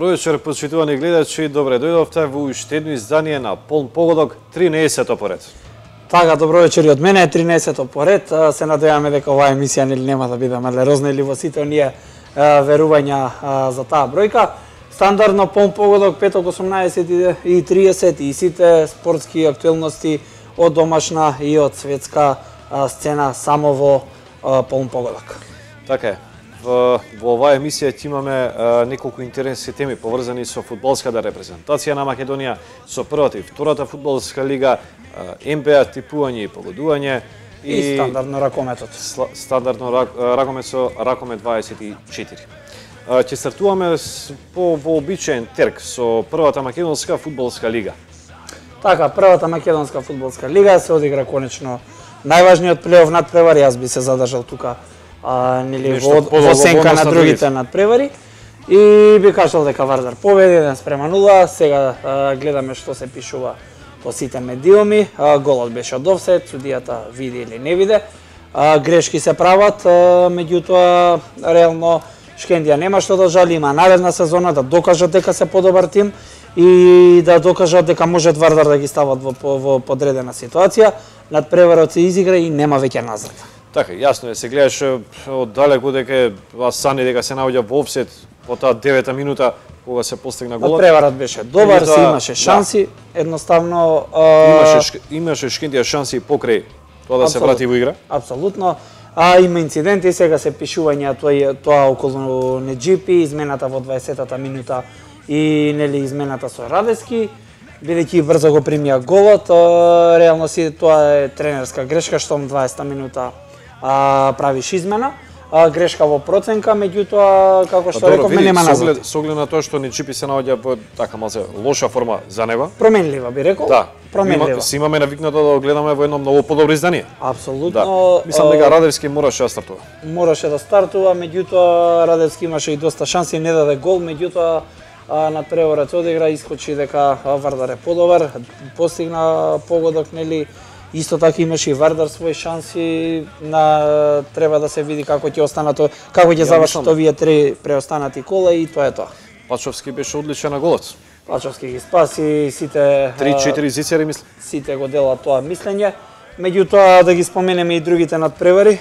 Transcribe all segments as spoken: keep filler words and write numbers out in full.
Добро вечер, почитувани гледачи. Добре дојдовте во уште едно издание на Полн погодок, тринаесетто поред. Така, добро вечер и од мене, тринаесетто поред. Се надеваме дека оваа емисија нели нема да биде малерозна или во сите оние верувања за таа бројка. Стандардно Полн погодок петок осумнаесет и триесет и сите спортски актуелности од домашна и од светска сцена само во Полн погодок. Така е. Во, во оваа емисија ќе имаме а, неколку интересни теми поврзани со фудбалската репрезентација на Македонија, со првата и втората фудбалска лига, а, Н Б А типување и погодување и, и стандардно ракометот. Стандардно рак, ракомет со ракомет дваесет и четири. А, ќе стартуваме с, по вообичаен терк со првата македонска фудбалска лига. Така, првата македонска фудбалска лига се одигра конечно најважниот плейоф надпревар, јас би се задржал тука А, нели, во, во сенка на другите надпревари и би кажал дека Вардар победи еден спрема нула. Сега а, гледаме што се пишува по сите медиуми. А, голот беше од офсет, судијата види или не виде. А, грешки се прават, а, меѓутоа реално Шкендија нема што да жали, има наредна сезона да докажат дека се подобар тим и да докажат дека можат Вардар да ги стават во, во подредена ситуација. Надпреварот се изигра и нема веќе назад. Така, јасно е, се гледаше од далеку дека Асани дека се наоѓа во офсет по таа девета минута кога се постигна голот. Надпреварот беше добар, се имаше шанси, да. Едноставно а... имаше имаше Шкендија шанси покрај тоа да Абсолютно. Се врати во игра. Апсолутно. А има инциденти, сега се пишувања тоа тоа околу Неџипи, измената во дваесетата минута и нели измената со Радевски, бидејќи брзо го примија голот, а, реално си тоа е тренерска грешка што дваесета минута а, правиш измена, а, грешка во проценка, меѓутоа како што рековме нема назад. Со оглед на тоа што Неџипи се наоѓа во така малце лоша форма за него. Променлива би рекол. Да. Променлива. Има, си имаме навикнато да го гледаме во едно многу подобро издание. Апсолутно. Да. Мислам дека Радевски мораше да стартува. Мораше да стартува, меѓутоа Радевски имаше и доста шанси, не даде гол, меѓутоа надпреварот се одигра, искочи дека Вардар е подобар, постигна погодок, нели. Исто така имаше и Вардар своји шанси, на треба да се види како ќе останат, како ќе завршат овие три преостанати кола и тоа е тоа. Пачовски беше одличен на голот. Пачовски ги спаси, сите три-четири зицери мислам. Сите го делат тоа мислење. Меѓутоа да ги споменеме и другите надпревари.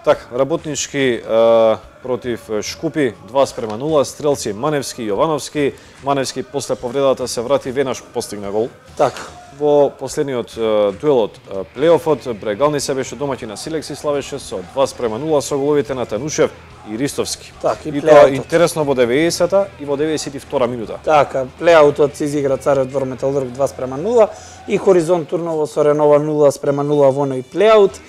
Така, Работнички а, против Шкупи два спрема нула, стрелци Маневски и Јовановски. Маневски после повредата се врати, веднаш постигна гол. Така. Во последниот а, дуел од плейофот, Брегални се беше домаќин на Силекси, славеше со два спрема нула со головите на Танушев и Ристовски. Так, и, и тоа интересно во деветдесета и во деветдесет и втора минута. Така, плеаутот се изигра Царев двор Металург два спрема нула и Хоризонт Турново со Ренова нула спрема нула во оној плеаут.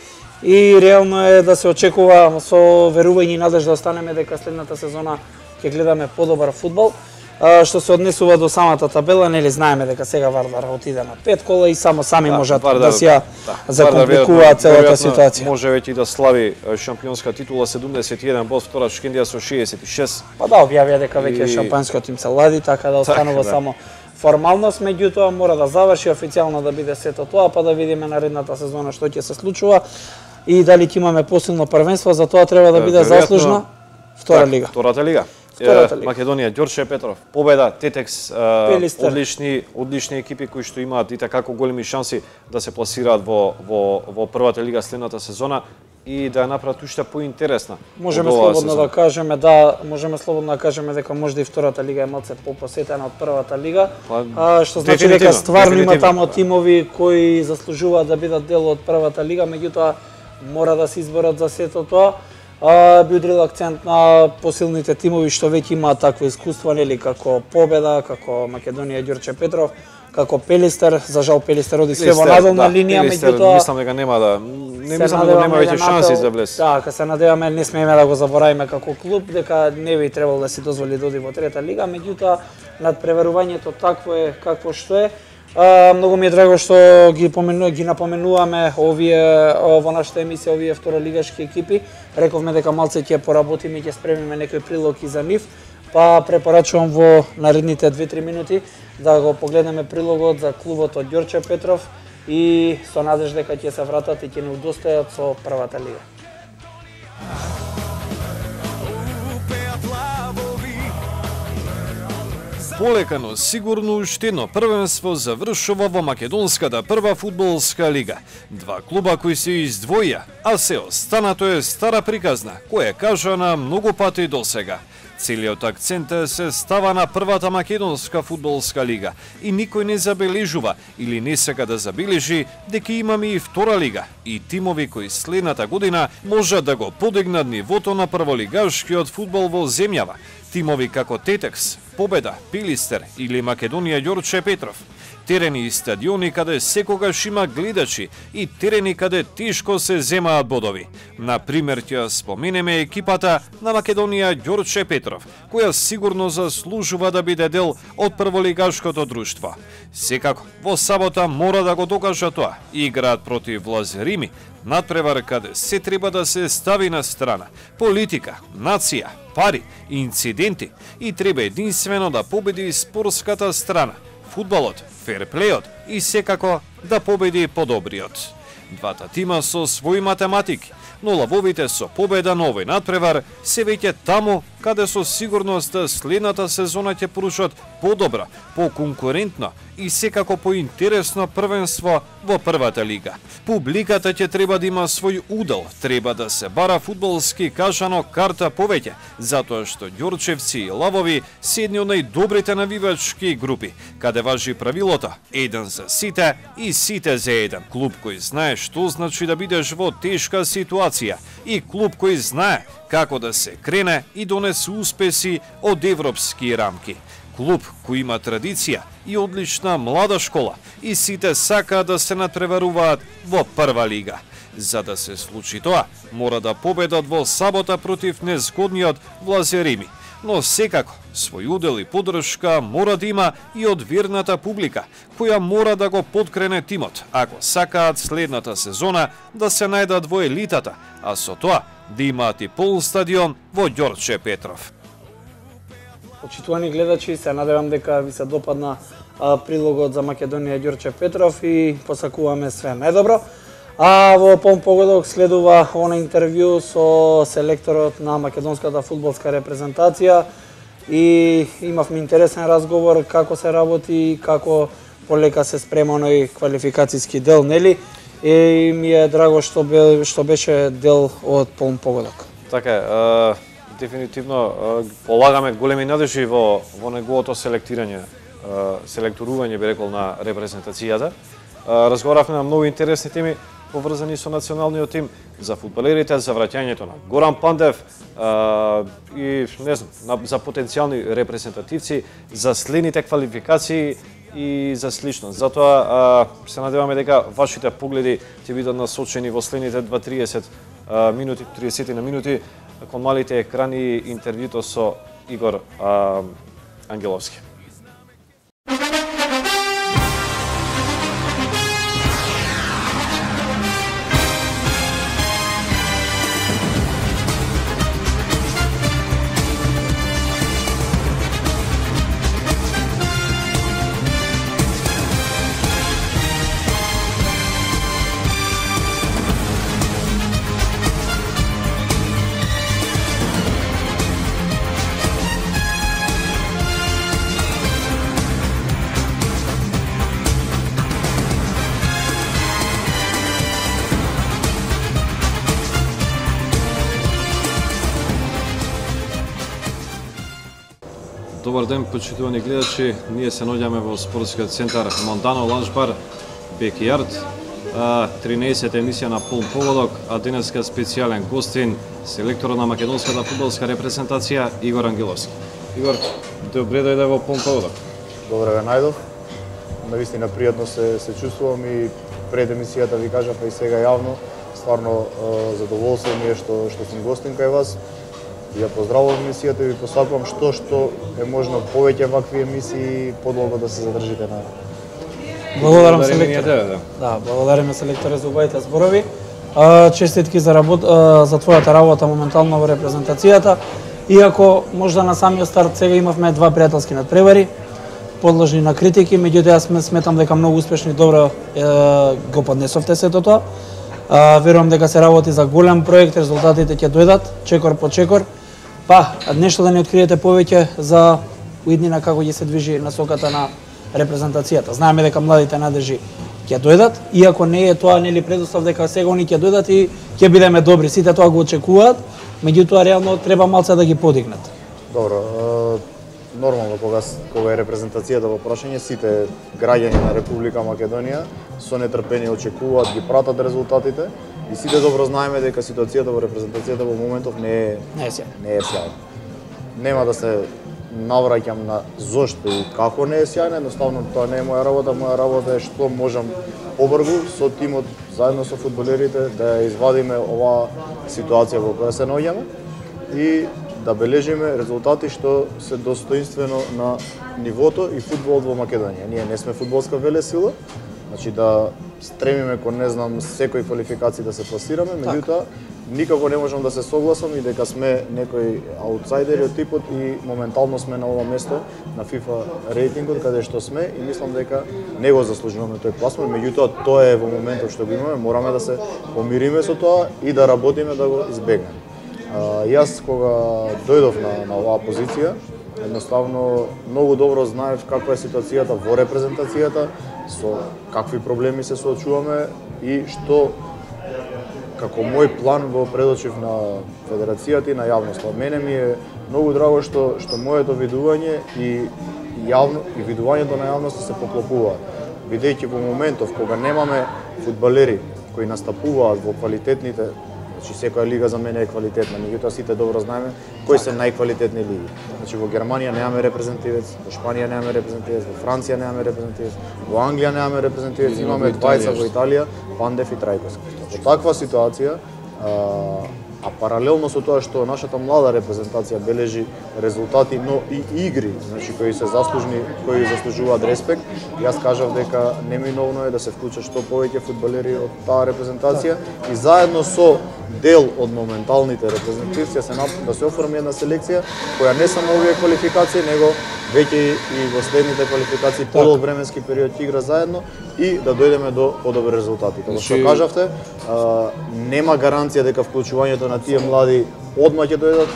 И реално е да се очекува со верување и надеж да останеме дека следната сезона ќе гледаме подобар фудбал. А, што се однесува до самата табела, нели знаеме дека сега Вардар отиде на пет кола и само сами да, можат Вардар, да се да, закомпликуваат целата ситуација. Може веќе да слави шампионска титула седумдесет и еден bod, втора Шкендија со шеесет и шест. Па да, објавија дека веќе и... шампионскиот им се лади, така да останува так, само формалност, меѓутоа мора да заврши официјално да биде сето тоа, па да видиме наредната сезона што ќе се случува и дали ќе имаме посилно првенство, за тоа треба да биде заслужна втора лига. Втората лига. Македонија, Ѓорче Петров, победа, Тетекс, одлични одлични екипи кои што имаат и така големи шанси да се пласираат во во во првата лига следната сезона и да ја направат уште поинтересна. Можеме слободно да кажеме да, можеме слободно да кажеме дека можда и втората лига е малце попосетена од првата лига, а, што значи дека стварно има таму тимови кои заслужуваат да бидат дел од првата лига, меѓутоа мора да се изборат за сето тоа. А, би удрил акцент на посилните тимови што веќе имаат такво искуство, нели, како Победа, како Македонија, Ѓорче Петров, како Пелистер. За жал Пелистер оди се во надолна да, линија, меѓутоа мислам дека нема да не мислам дека нема веќе шанси за влез. Да, ка се надеваме, не смееме да го заборавиме како клуб дека не би требало да си дозволи да оди во трета лига, меѓутоа надпреварувањето такво е какво што е. А, многу ми е драго што ги помену, ги напоменуваме овие во нашата емисија овие второлигашки екипи. Рековме дека малце ќе поработиме и ќе спремиме некој прилог и за нив, па препорачувам во наредните две-три минути да го погледнеме прилогот за клубот од Ѓорче Петров и со надеж дека ќе се вратат и ќе не удостојат со првата лига. полека, но сигурно уште едно првенство завршува во македонската прва фудбалска лига. Два клуба кои се издвоја, а се останато е стара приказна, која е кажана многу пати досега. Целиот акцент се става на првата македонска фудбалска лига и никој не забележува или не сака да забележи дека имаме и втора лига и тимови кои следната година можат да го подигнат нивото на прволигашкиот фудбал во земјава. Тимови како Тетекс, Победа, Пилистер или Македонија Ѓорче Петров. Терени и стадиони каде секогаш има гледачи и терени каде тешко се земаат бодови. На пример ќе споменеме екипата на Македонија Ѓорче Петров, која сигурно заслужува да биде дел од прволигашкото друштво. Секако, во сабота мора да го докажа тоа. Играат против Лазерими, надпревар каде се треба да се стави на страна. Политика, нација, пари, инциденти и треба единствено да победи спортската страна. Фудбалот, ферплејот и секако да победи подобриот. Двата тима со своји математики, но лавовите со победа на овој надпревар се веќе таму каде со сигурност следната сезона ќе поручат подобро, поконкурентно и секако поинтересно првенство во првата лига. Публиката ќе треба да има свој удел, треба да се бара фудбалски кажано карта повеќе, затоа што ѓорчевци и лавови се едни од најдобрите навивачки групи, каде важи правилото еден за сите и сите за еден. Клуб кој знае што значи да бидеш во тешка ситуација и клуб кој знае како да се крене и донесе успеси од европски рамки. Клуб кој има традиција и одлична млада школа и сите сакаат да се надпреваруваат во прва лига. За да се случи тоа, мора да победат во сабота против незгодниот Лазерими. Но секако, свој удел и поддршка мора да има и од верната публика, која мора да го подкрене тимот, ако сакаат следната сезона да се најдат во елитата, а со тоа да имаат и полн стадион во Ѓорче Петров. Почитувани гледачи, се надевам дека ви се допадна а, прилогот за Македонија Ѓорче Петров и посакуваме све најдобро. А во полн погодок следува она интервју со селекторот на македонската фудбалска репрезентација и имавме интересен разговор како се работи и како полека се спрема оној квалификацијски дел, нели? И ми е драго што бе, што беше дел од полн погодок. Така е, дефинитивно полагаме големи надежи во во неговото селектирање, селекторување би рекол на репрезентацијата. Разговаравме на многу интересни теми поврзани со националниот тим, за фудбалерите, за враќањето на Горан Пандев и не знам, за потенцијални репрезентативци, за следните квалификации и за слично. Затоа се надеваме дека вашите погледи ќе бидат насочени во следните два триесет минути, триесет на минути кон малите екрани интервјуто со Игор Ангеловски. Добар ден, почитувани гледачи. Ние се наоѓаме во спортскиот центар Мондано Ланчбар Бекијард. тринаесета емисија на полн погодок, а денеска специјален гостин, селекторот на македонската фудбалска репрезентација Игор Ангеловски. Игор, добре дојде во полн погодок. Добре ве најдов. Навистина пријатно се се чувствувам и пред емисијата ви кажав и сега јавно, стварно задоволство ми е што што сум гостин кај вас. Ја поздравувам емисијата и ви посакувам што што е можно повеќе вакви емисии подолго да се задржите на. Благодарам селекторе. Да, благодариме селекторе за убавите зборови. Честитки за работа, за твојата работа моментално во репрезентацијата. Иако можда на самиот старт сега имавме два пријателски надпревари, подложни на критики, меѓутоа јас сметам дека многу успешно и добро е, го поднесовте сето тоа. Верувам дека се работи за голем проект, резултатите ќе дојдат чекор по чекор. Па, нешто да ни откриете повеќе за уиднина како ќе се движи насоката на репрезентацијата. Знаеме дека младите надежи ќе дојдат, иако не е тоа нели предуслов дека сега они ќе дојдат и ќе бидеме добри. Сите тоа го очекуваат, меѓутоа реално треба малце да ги подигнат. Добро, нормално кога кога е репрезентацијата во прашање, сите граѓани на Република Македонија со нетрпение очекуваат, ги пратат резултатите и сите добро знаеме дека ситуацијата во репрезентацијата во моментов не е не е сјајна. Не е сјајна. Нема да се навраќам на зошто и како не е сјајна, едноставно тоа не е моја работа, моја работа е што можам побрзо со тимот, заедно со фудбалерите да ја извадиме оваа ситуација во која се наоѓаме и да бележиме резултати што се достоинствено на нивото и фудбалот во Македонија. Ние не сме фудбалска велесила, значи да стремиме кон не знам секој квалификации да се пласираме, меѓутоа никако не можам да се согласам и дека сме некои аутсайдери од типот и моментално сме на ова место на FIFA рейтингот каде што сме и мислам дека не го заслужуваме тој пласман, меѓутоа тоа е во моментот што го имаме, мораме да се помириме со тоа и да работиме да го избегнеме. Uh, јас кога дојдов на, на оваа позиција, едноставно многу добро знаев каква е ситуацијата во репрезентацијата, со какви проблеми се соочуваме и што како мој план го предочив на федерацијата и на јавноста. Мене ми е многу драго што што моето видување и јавно и видувањето на јавноста се поклопуваат. Бидејќи во моментов кога немаме фудбалери кои настапуваат во квалитетните, значи секоја лига за мене е квалитетна, меѓутоа сите добро знаеме кои се најквалитетни лиги. Значи во Германија немаме репрезентативец, во Шпанија немаме репрезентативец, во Франција немаме репрезентативец, во Англија немаме репрезентативец, имаме двајца во Италија, Пандев и Трајковски. Во таква ситуација, а, а паралелно со тоа што нашата млада репрезентација бележи резултати, но и игри, значи кои се заслужни, кои заслужуваат респект, јас кажав дека неминовно е да се вклучат што повеќе фудбалери од таа репрезентација и заедно со дел од моменталните репрезентативци се да се оформи една селекција која не само овие квалификации, него веќе и во следните квалификации подолг временски период ќе игра заедно и да дојдеме до подобри резултати. Како што кажавте, а, нема гаранција дека вклучувањето на тие млади одма ќе дојдат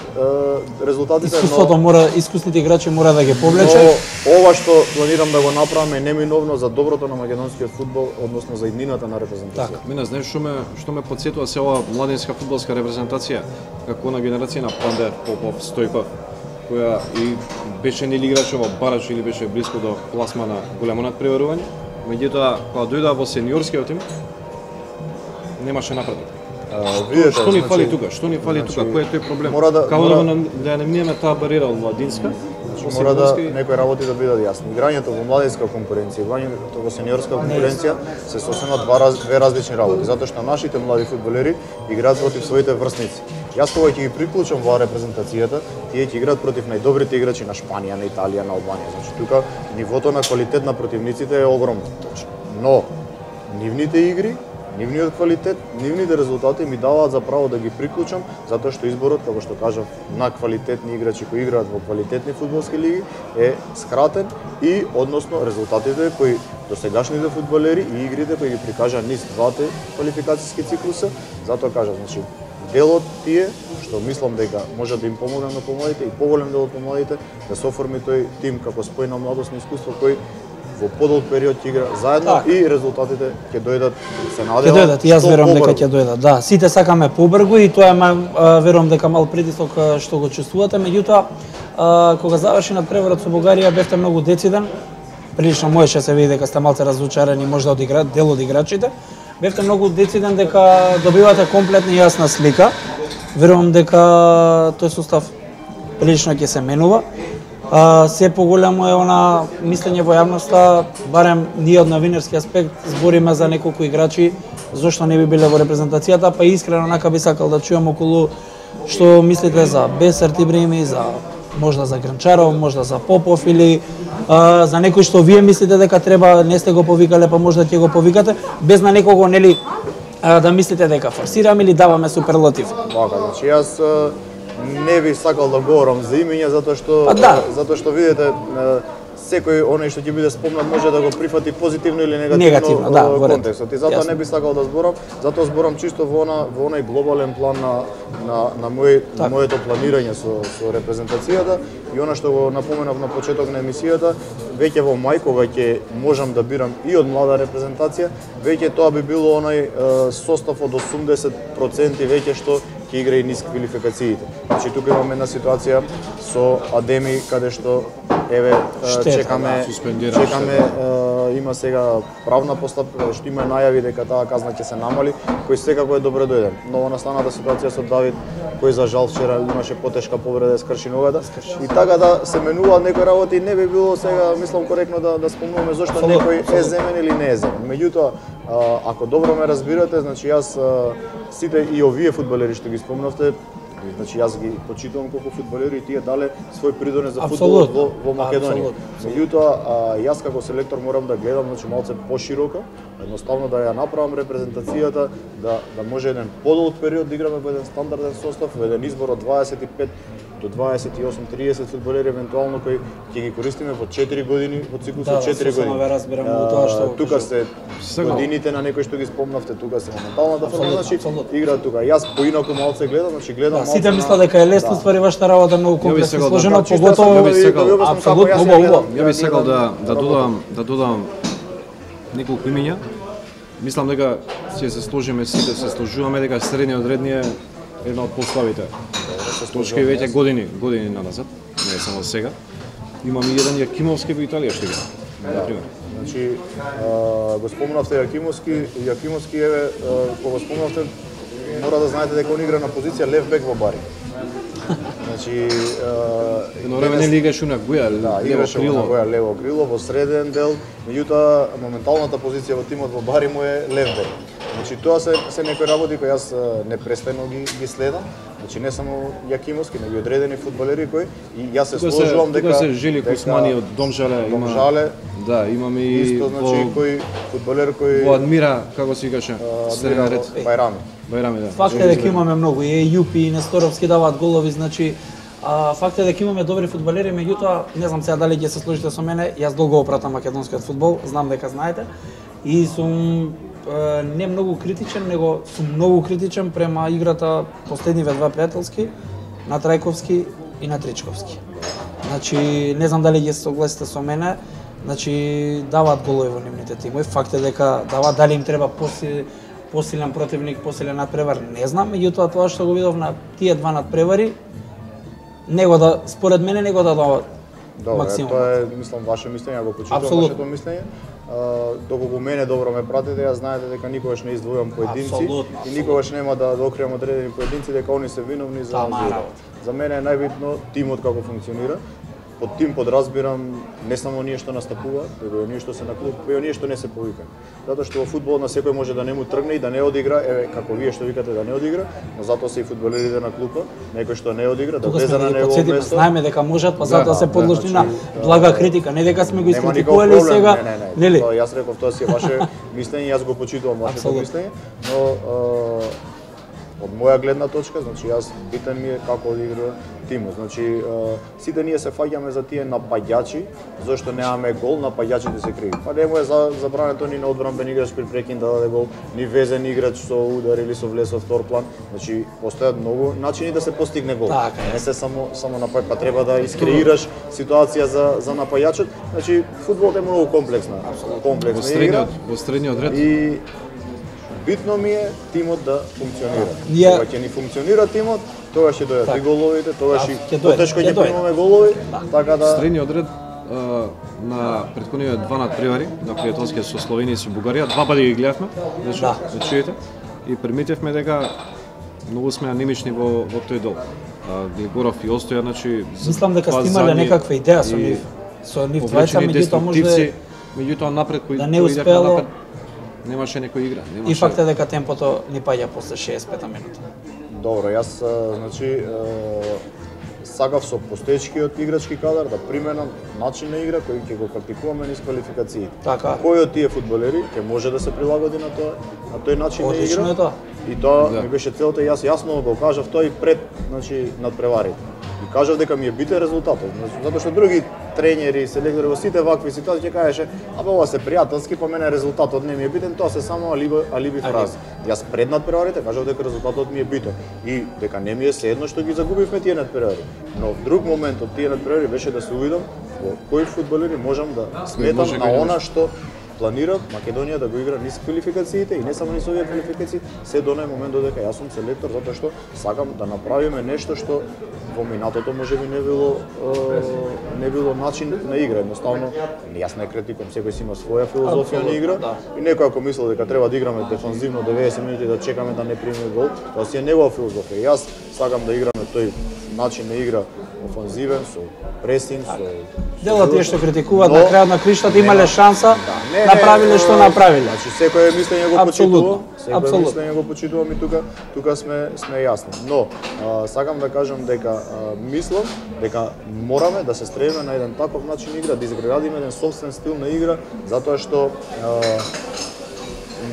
резултатите. Искуството но, мора, искусните играчи мора да ги повлече. Но ова што планирам да го направам е неминовно за доброто на македонскиот фудбал, односно за иднината на репрезентација. Така, мене знаеш што ме што ме потсетува се ова младинска фудбалска репрезентација, како на генерација на Пандер, Попов, Стојков, која и беше нели играчи во бараш или беше блиско до пласмана големо надпреварување, меѓутоа кога дојдоа во сениорскиот тим немаше напредок. Uh, видите, што ни значи, фали тука? Што ни фали значи, тука? Кој е тој проблем? Мора да, Како мора, да, да не минеме таа бариера од младинска? Значи, мора да некои работи да бидат јасни. Играњето во младинска конкуренција, играњето во сениорска конкуренција се сосема два раз, две различни работи, затоа што нашите млади фудбалери играат против своите врсници. Јас кога ќе ги приклучам во репрезентацијата, тие ќе играат против најдобрите играчи на Шпанија, на Италија, на Албанија. Значи тука нивото на квалитет на противниците е огромно. Но нивните игри, нивниот квалитет, нивните резултати ми даваат за право да ги приклучам, затоа што изборот, како што кажав, на квалитетни играчи кои играат во квалитетни фудбалски лиги е скратен и односно резултатите кои досегашните фудбалери и игрите кои ги прикажаа низ двата квалификацијски циклуса, затоа кажав, значи делот тие што мислам дека може да им помогнам на помладите и поголем дел од помладите да се оформи тој тим како спојна младост на искуство кој во подолг период ќе игра заедно так. И резултатите ќе дојдат, се надевам. Ќе дојдат, јас верувам дека ќе дојдат. Да, сите сакаме побрзо и тоа е верувам дека мал притисок што го чувствувате, меѓутоа кога заврши надпреварот со Бугарија бевте многу дециден. Прилично можеше се види дека сте малце разочарани можда од игра, дел од играчите. Бевте многу дециден дека добивате комплетна и јасна слика. Верувам дека тој состав прилично ќе се менува. А, се поголемо е она мислење во јавноста, барем ние од новинарски аспект збориме за неколку играчи зошто не би биле во репрезентацијата, па искрено нака би сакал да чуам околу што мислите за Бесер Тибрими, за можда за Гранчаров, можда за Попов или а, за некој што вие мислите дека треба, не сте го повикале, па можда ќе го повикате, без на некого нели а, да мислите дека форсираме или даваме суперлатив. Така, значи јас не би сакал да говорам за имења затоа што да. затоа што видите секој оној што ќе биде спомнат може да го прифати позитивно или негативно, негативно да, во контекстот. И затоа не би сакал да зборам, затоа зборам чисто во она во онај глобален план на на на мој на моето планирање со со репрезентацијата и она што го напоменав на почеток на емисијата, веќе во мај кога ќе можам да бирам и од млада репрезентација, веќе тоа би било онај е, состав од осумдесет проценти веќе што ќе игра и низ квалификациите. Значи тука имаме една ситуација со Адеми каде што еве чекаме чекаме е, има сега правна постапка што има најави дека таа казна ќе се намали, кој секако е добро дојден. Но настаната ситуација со Давид кој за жал вчера имаше потешка повреда, скрши ногата и така да се менуваат некои работи, не би било сега мислам коректно да да спомнуваме зошто некој е земен или не е земен. Меѓутоа ако добро ме разбирате, значи јас сите и овие фудбалери што ги спомнавте, значи јас ги почитувам колку фудбалери и тие дале свој придонес за фудбалот во, во Македонија. Меѓутоа, јас како селектор морам да гледам значи малце пошироко, едноставно да ја направам репрезентацијата, да да може еден подолг период да играме во еден стандарден состав, во еден избор од дваесет и пет до дваесет и осум тридесет фудбалери евентуално кои ќе ги користиме во четири години, во циклус од четири години. Да, разбирам во тоа што тука се годините на некои што ги спомнавте, тука се моменталната форма, значи играат тука. Јас поинаку малце гледам, значи гледам малце. Сите мислат дека е лесно, ствари вашата работа многу комплексно сложена, поготово апсолутно убаво. Ја би сакал да да додам да додам неколку имиња. Мислам дека ќе се сложиме сите, се сложуваме дека средниот ред ни е една од поставите. Точки веќе години, години назад, не е само сега. Имаме еден Јакимовски во Италија што игра, на пример. Значи, го спомнавте Јакимовски, Јакимовски еве кога го спомнавте, мора да знаете дека он игра на позиција лев бек во Бари. Значи, едно време не играше на Гоја, да, играше на Гоја лево крило во среден дел, меѓутоа моменталната позиција во тимот во Бари му е лев бек. Значи тоа се се некои работи кои јас непрестано ги ги следам. Значи не само Јакимовски, него и одредени фудбалери кои и јас се сложувам дека тука се Жели Кусмани од Домжале, има Домжале. Да, имаме и исто значи кој фудбалер кој во Адмира, како се викаше, среден ред Бајрами. Бајрами, да. Факт е дека имаме многу и Јупи и Несторовски даваат голови, значи а, факт е дека имаме добри фудбалери, меѓутоа не знам сега дали ќе се сложите со мене, јас долго опратам македонскиот фудбал, знам дека знаете и сум не многу критичен, него сум многу критичен према играта последниве два пријателски на Трајковски и на Тричковски. Значи, не знам дали ќе се согласите со мене, значи даваат голови во нивните тимови. Факт е дека даваат, дали им треба посилен, посилен противник, посилен надпревар, не знам, меѓутоа тоа што го видов на тие два надпревари, него да според мене него да даваат максимум. Добре, тоа е мислам ваше мислење, го почитувам вашето мислење. Uh, доколку мене добро ме пратите, ја знаете дека никогаш не издвојувам поединци абсолютно, и никогаш нема да докријам одредени поединци дека они се виновни за зиравот. За мене е најбитно тимот како функционира. Под тим подразбирам не само оние што настапуваат, туку и оние што се на клуб, и оние што не се повикани. Затоа што во фудбал на секој може да не му тргне и да не одигра, еве како вие што викате да не одигра, но затоа се и фудбалерите на клуба, некој што не одигра, да влезе на негово место. Знаеме дека можат, па затоа се подложни на блага критика, не дека сме го искритикували сега, нели? Тоа јас реков, тоа си е ваше мислење, јас го почитувам вашето мислење, но од моја гледна точка, значи јас битен ми е како одигра тимот. Значи сите ние се фаќаме за тие напаѓачи, зашто немаме гол, напаѓачите се криви. Па не му е забрането ни на одбранбен играч при прекин да даде гол, ни везен играч со удар или со влез во втор план. Значи постојат многу начини да се постигне гол. Так, не се само само напаѓач, па треба да искреираш ситуација за за напаѓачот. Значи фудбалот е многу комплексна, комплексна игра. Во средниот ред. И битно ми е тимот да функционира. Ја... Кога ќе ни функционира тимот, тогаш ќе дојдат и головите, тогаш и потешко ќе примаме дојде. голови, така да средниот ред а, на претходните два надпревари на пријателскиот со Словенија и со Бугарија, два пати ги гледавме, значи да чуете, и приметивме дека многу сме анемични во во тој дел. Глигоров и Остоја, значи мислам дека сте имале некаква идеја со нив, со нив двајца, меѓутоа може меѓутоа напред кој да не успело. Немаше некој игра, немаше. И факт е дека темпото ни паѓа после шеесет и пета минута. Добро, јас значи сакав со постоечкиот играчки кадар да применам начин на игра кој ќе го практикуваме низ квалификациите. Така. Кој од тие фудбалери ќе може да се прилагоди на тоа, на тој начин на игра? Одлично е тоа. И тоа да ми беше целта, јас јасно го кажав тоа и пред, значи надпреварите. И кажав дека ми е битен резултатот, затоа што други тренери, селектори во сите вакви ситуации ќе кажеше, абе ова се пријателски, по мене резултатот не ми е битен, тоа се само алиби, алиби фрази. Јас пред надпреварите кажав дека резултатот ми е битен и дека не ми е седно што ги загубивме тие надпревари. Но друг момент од тие надпревари беше да се увидам во кои фудбалери можам да сметам на она што планирам Македонија да го игра низ квалификациите и не само низ овие квалификации, се до нај момент додека јас сум селектор затоа што сакам да направиме нешто што во минатото можеби не било е, не било начин на игра. Едноставно, јас не критикувам, секој си има своја филозофија на игра и некој ако мисли дека треба да играме дефанзивно деветдесет минути да чекаме да не примиме гол, тоа си е негова филозофија. Јас сакам да играме тој начин на игра офанзивен, со пресинг, со делат тие што критикуваат на крајот на криштата имале шанса, да, направиле што направиле. Значи секој мислење го почитува, секој мислење го почитувам и тука тука сме сме јасни. Но а, сакам да кажам дека а, мислам дека мораме да се стремиме на еден таков начин игра, да изградиме еден сопствен стил на игра, затоа што а,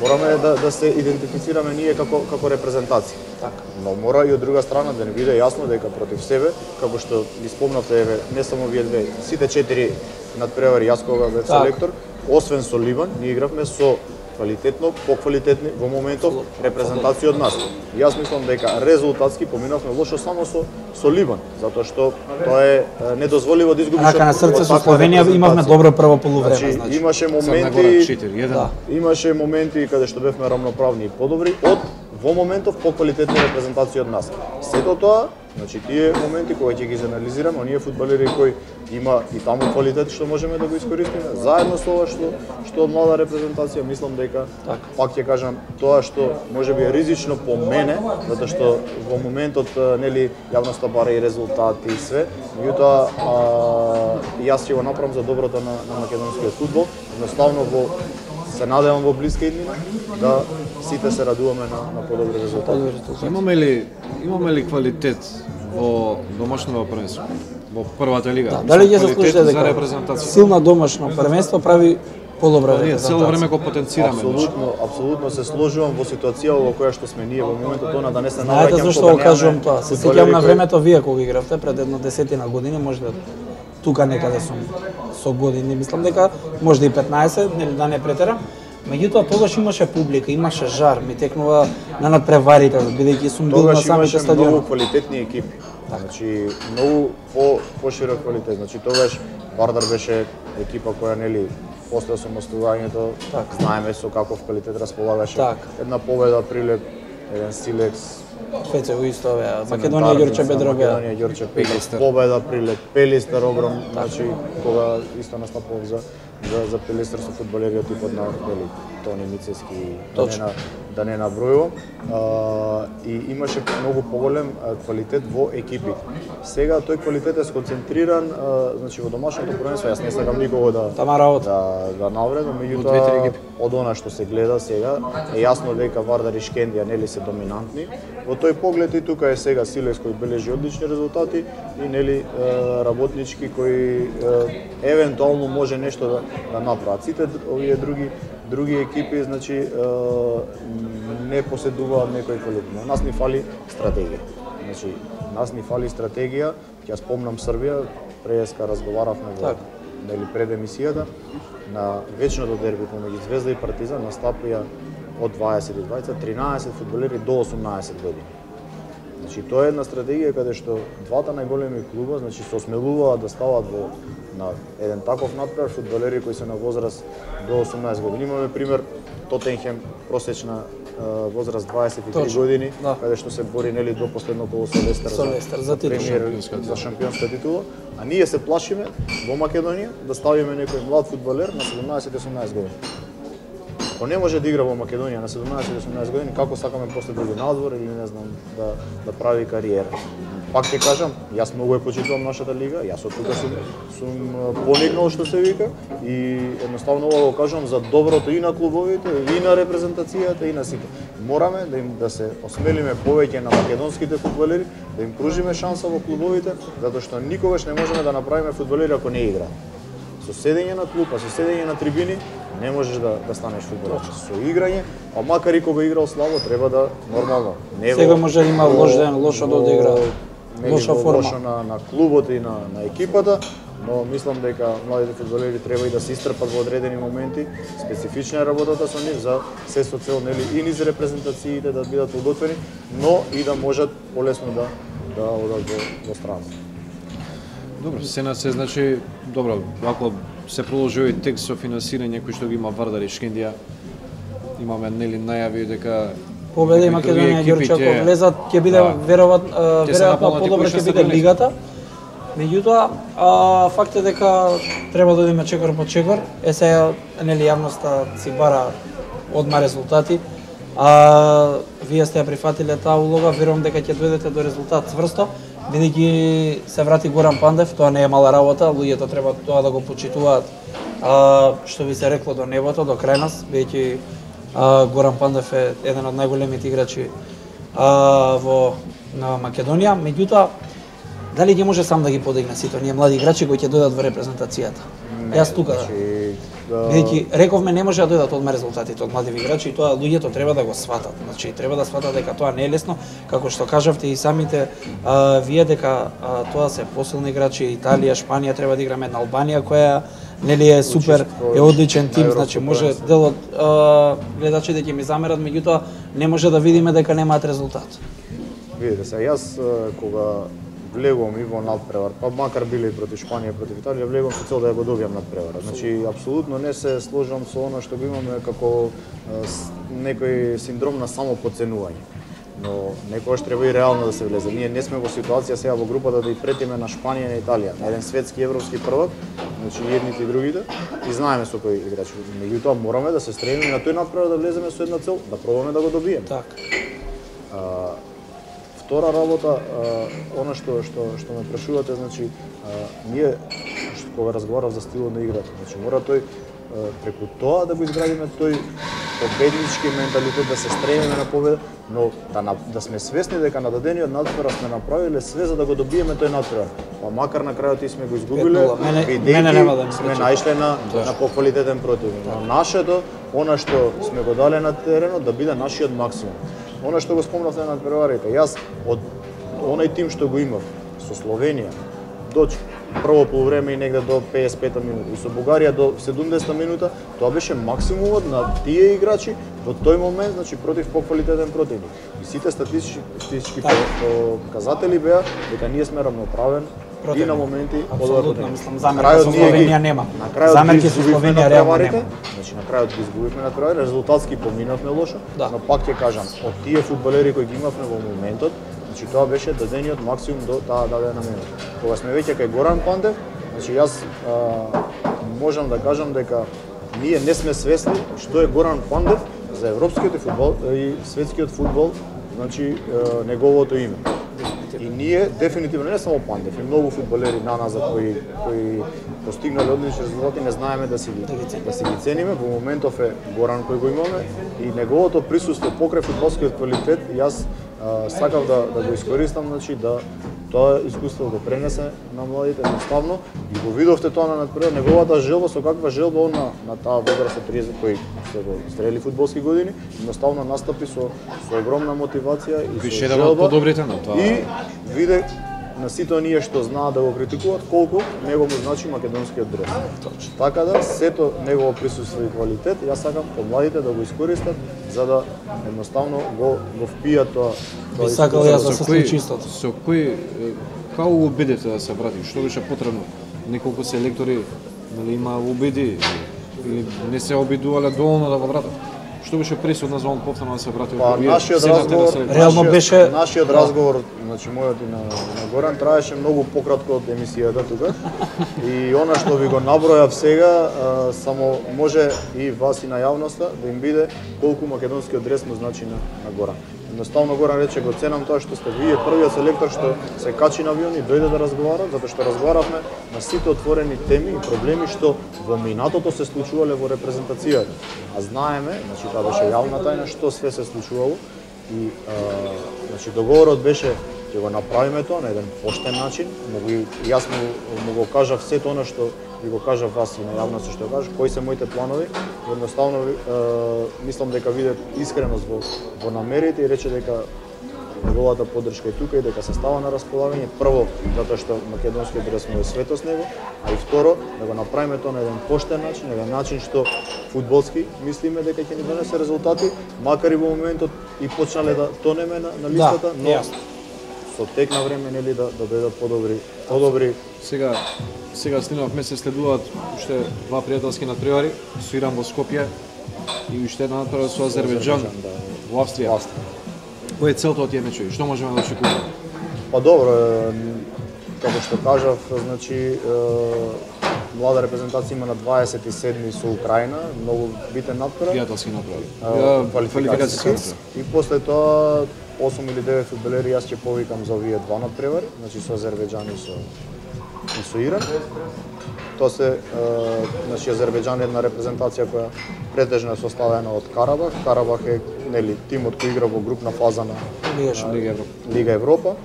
мораме да да се идентифицираме ние како како репрезентација. Така. Но мора и од друга страна да не биде јасно дека против себе, како што ги спомнавте, еве, не само вие две, сите четири надпревари јас кога бев селектор, освен со Ливан, ние игравме со квалитетно, поквалитетни во моментов репрезентација од нас. И јас мислам дека резултатски поминавме лошо само со со Ливан, затоа што тоа е недозволиво да изгубиш. Рака на срце со Словенија имавме добро прво полувреме, значи. значи. Имаше моменти, да. имаше моменти каде што бевме рамноправни и подобри од во моментов поквалитетни репрезентација од нас. Сето тоа, значи тие моменти кои ќе ги анализираме, оние фудбалери кои има и таму квалитет што можеме да го искористиме, заедно со ова што што од млада репрезентација, мислам дека так. Пак ќе кажам тоа што можеби е ризично по мене, затоа што во моментот нели јавноста бара и резултати и све, меѓутоа јас ќе го направам за доброто на, на македонскиот фудбал, едноставно во се надевам во блиска иднина да сите се радуваме на, на подобри резултати. Имаме ли имаме ли квалитет во домашното првенство? Во првата лига? Да, дали ќе заслужите дека силна домашно првенство прави подобра репрезентација? Ние цело време го потенцираме. Апсолутно, апсолутно се сложувам во ситуација во која што сме ние во моментот она да не се навраќам. Знаете зашто го кажувам тоа? Се сеќавам на времето вие кога игравте пред една десетина години, можда тука некаде сум со години, мислам дека можда и петнаесет, нели да не претерам. Меѓутоа тогаш имаше публика, имаше жар, ми текнува на надпреварите, бидејќи сум бил на самите стадиони. Тогаш многу квалитетни екипи. Значи многу по поширок квалитет. Значи тогаш Вардар беше екипа која нели после осамостувањето, так. знаеме со каков квалитет располагаше. Так. Една победа прилеп, еден Силекс, Пецево исто беа, Македонија Ѓорче Петров беа. Македонија Ѓорче Петров, победа прилеп, Пелистер огром, значи кога исто настапував за за за Пелистер со фудбалери од типот на дели Тони Мицески, да не на да не набројувам. И имаше многу поголем квалитет во екипите. Сега тој квалитет е сконцентриран, а, значи во домашното првенство, јас не сакам никого да да да навредам, меѓутоа од она што се гледа сега е јасно дека Вардар и Шкендија нели се доминантни. Во тој поглед и тука е сега Силекс кој бележи одлични резултати и нели работнички кои евентуално може нешто да, да направат. Сите овие други други екипи, значи не поседуваат некој квалитет. Но нас ни фали стратегија. Значи нас ни фали стратегија. Ќе спомнам Србија, преска разговаравме во нели пред емисијата на вечното дерби помеѓу Звезда и Партизан настапија од дваесет и дваесет тринаесет фудбалери до осумнаесет години. Значи тоа е една стратегија каде што двата најголеми клуба, значи се осмелуваат да стават во на еден таков надпревар фудбалери кои се на возраст до осумнаесет години. Имаме пример Тотенхем, просечна uh, возраст дваесет и три Точно, години, да. Каде што се бори нели до последно коло со Лестер за, Лестер, за, премиер, за шампионска титула, а ние се плашиме во Македонија да ставиме некој млад фудбалер на седумнаесет и осумнаесет години. Ако не може да игра во Македонија на седумнаесет и осумнаесет години, како сакаме после да иде надвор или не знам да да прави кариера. Пак ќе кажам, јас многу ја почитувам нашата лига, јас од тука сум сум поникнал што се вика и едноставно ова го кажам за доброто и на клубовите, и на репрезентацијата, и на сите. Мораме да им да се осмелиме повеќе на македонските фудбалери, да им пружиме шанса во клубовите, затоа што никогаш не можеме да направиме фудбалери ако не играат. Со седење на клупа, со седење на трибини, не можеш да, да станеш фудбалер. Со играње, а макар и кога играл слабо, треба да нормално. Не Сега во, може да има лош ден, лошо да одигра. лоша форма лошо на на клубот и на на екипата, но мислам дека младите фудбалери треба и да се истрпат во одредени моменти, специфична е работата со нив за се со цел нели и низ репрезентациите да бидат подготвени, но и да можат полесно да да одат во, во страна. Добро, сена се значи добро, ако се продолжи овој текст со финансирање кој што ги има Вардар и Шкендија, имаме нели најави дека Победа и Македонија и Ѓорче ако влезат ќе биде веројатно веројатно подобро ќе биде лигата. Меѓутоа, а, факт е дека треба да одиме чекор по чекор. Е сега нели јавноста си бара одма резултати. А вие сте ја прифатиле таа улога, верувам дека ќе дојдете до резултат цврсто, бидејќи се врати Горан Пандев, тоа не е мала работа, луѓето треба тоа да го почитуваат, а, што би се рекло до небото, до крај нас, бидејќи Горан Пандев е еден од најголемите играчи а, во на Македонија, меѓутоа дали ќе може сам да ги подигне сите оние млади играчи кои ќе дојдат во репрезентацијата? Не, Јас тука значи, да. Бидејќи рековме не може да дојдат одма резултатите од млади играчи и тоа луѓето треба да го сватат. Значи треба да сватат дека тоа не е лесно, како што кажавте и самите а, вие дека а, тоа се посилни играчи, Италија, Шпанија треба да играме на Албанија која нели е супер, е одличен тим, значи може дел од гледачите ќе ми замерат, меѓутоа не може да видиме дека немаат резултат. Видите се, јас кога влегувам и во надпревар, па макар биле и против Шпанија и против Италија, влегувам со цел да ја го добијам надпревара. Значи апсолутно не се сложам со она што го имаме како некој синдром на самоподценување. Но некогаш треба и реално да се влезе. Ние не сме во ситуација сега во групата да и претиме на Шпанија и на Италија, на еден светски европски првак, значи едните и другите, и знаеме со кои играчи. Меѓутоа мораме да се стремиме на тој надпревар да влеземе со една цел, да пробаме да го добиеме. Така. Втора работа, она што што што ме прашувате, значи ние кога разговарав за стилот на играта, значи мора тој преку тоа да го изградиме тој победнички менталитет, да се стремиме на победа, но да да сме свесни дека на дадениот надпревар сме направиле све за да го добиеме тој надпревар. Па макар на крајот и сме го изгубиле, бидејќи сме наишле на на поквалитетен противник. Но нашето, она што сме го дале на теренот, да биде нашиот максимум. Она што го спомнавте на надпреварите, јас од онај тим што го имав со Словенија до прво полувреме и негде до педесет и пета минута и со Бугарија до седумдесета минута, тоа беше максимумот на тие играчи во тој момент, значи против поквалитетен противник. И сите статистички, статистички показатели беа дека ние сме равноправен и на моменти одбор. Мислам замерка со Словенија нема. Замерки со Словенија реално нема. Значи на крајот ги изгубивме на крај, резултатски поминавме лошо, да. Но пак ќе кажам, од тие фудбалери кои ги имавме во моментот, значи тоа беше дадениот максимум до таа дадена минута. Кога сме веќе кај Горан Пандев, значи јас а, можам да кажам дека ние не сме свесни што е Горан Пандев за европскиот фудбал и светскиот фудбал, значи а, неговото име. И ние дефинитивно не само Пандев, и многу фудбалери на нас кои кои постигнале одлични резултати не знаеме да си ги да си ги цениме. Во моментов е Горан кој го имаме и неговото присуство покрај фудбалскиот квалитет, јас а, сакав да да го искористам, значи да тоа искуство го пренесе на младите наставно и го видовте тоа на надпревар, неговата желба, со каква желба он на, на таа возраст од триесет кој се го стрели фудбалски години, едноставно настапи со со огромна мотивација и Више со желба. Подобрите на тоа. И виде на сите оние што знаат да го критикуваат колку него му значи македонскиот дрес. Точно. Така да сето негово присуство и квалитет, јас сакам помладите да го искористат за да едноставно го го впијат тоа. Би сакал јас да се случи истото. Со кој како го убедите да се врати? Што беше потребно? Неколку селектори нели има убеди или не се обидувале доволно да го вратат? Што беше пресудно за он повторно да се врати? Па нашиот разговор, реално беше нашиот разговор, значи мојот и на, на Горан траеше многу пократко од емисијата тука. И она што ви го набројав сега, а, само може и вас и на јавноста да им биде колку македонскиот дрес му значи на, на Горан. Едноставно Горан рече го ценам тоа што сте вие првиот селектор што се качи на авион и дојде да разговара, затоа што разговаравме на сите отворени теми и проблеми што во минатото се случувале во репрезентацијата. А знаеме, значи тоа беше јавна тајна што све се случувало и а, значи договорот беше ќе го направиме тоа на еден поштен начин, могу и јас му, му го кажав сето она што ви го кажав вас и на јавноста што кажав, кои се моите планови, едноставно е, мислам дека виде искреност во, во намерите и рече дека неговата поддршка е тука и дека се става на располагање, прво затоа што македонскиот ресмо е свето с него, а и второ да го направиме тоа на еден поштен начин, на еден начин што фудбалски мислиме дека ќе ни донесе резултати, макар и во моментот и почнале да тонеме на, на листата, да, но јасно. Со тек на време нели да да дојдат подобри, подобри. Сега сега Слиновме се следуваат уште два пријателски надпревари, со Иран во Скопје и уште една надпревара со Азербејџан да, во Австрија. Кој е целта од тие мечови? Што можеме да очекуваме? Па добро, како што кажав, значи млада репрезентација има на дваесет и седми со Украина, многу битен надпревар. Пријателски надпревар. Квалификацијски. И после тоа осум или девет фудбалери јас ќе повикам за овие два надпревари, значи со Азербејџан и со и со Иран. Тоа се значи Азербејџан е една репрезентација која претежно е составена од Карабах. Карабах е нели тимот кој игра во групна фаза на Лига Европа. Лига Европа.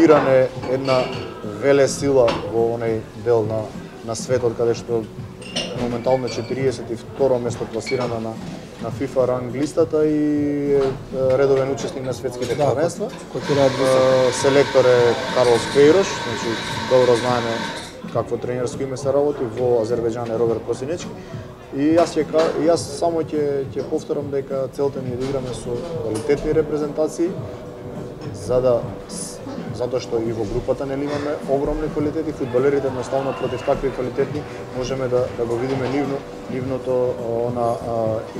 Иран е една велесила во оној дел на на светот каде што моментално е четириесет и второ место пласирана на на FIFA ранг листата и редовен учесник на светските да, првенства. Кој селектор е Карлос Пейрош, значи добро знаеме какво тренерско име се работи, во Азербејџан е Роберт Косинечки. И јас ќе јас само ќе ќе повторам дека целта ни е да играме со квалитетни репрезентации, за да затоа што и во групата нели имаме огромни квалитети, фудбалерите едноставно против такви квалитетни можеме да да го видиме нивно нивното она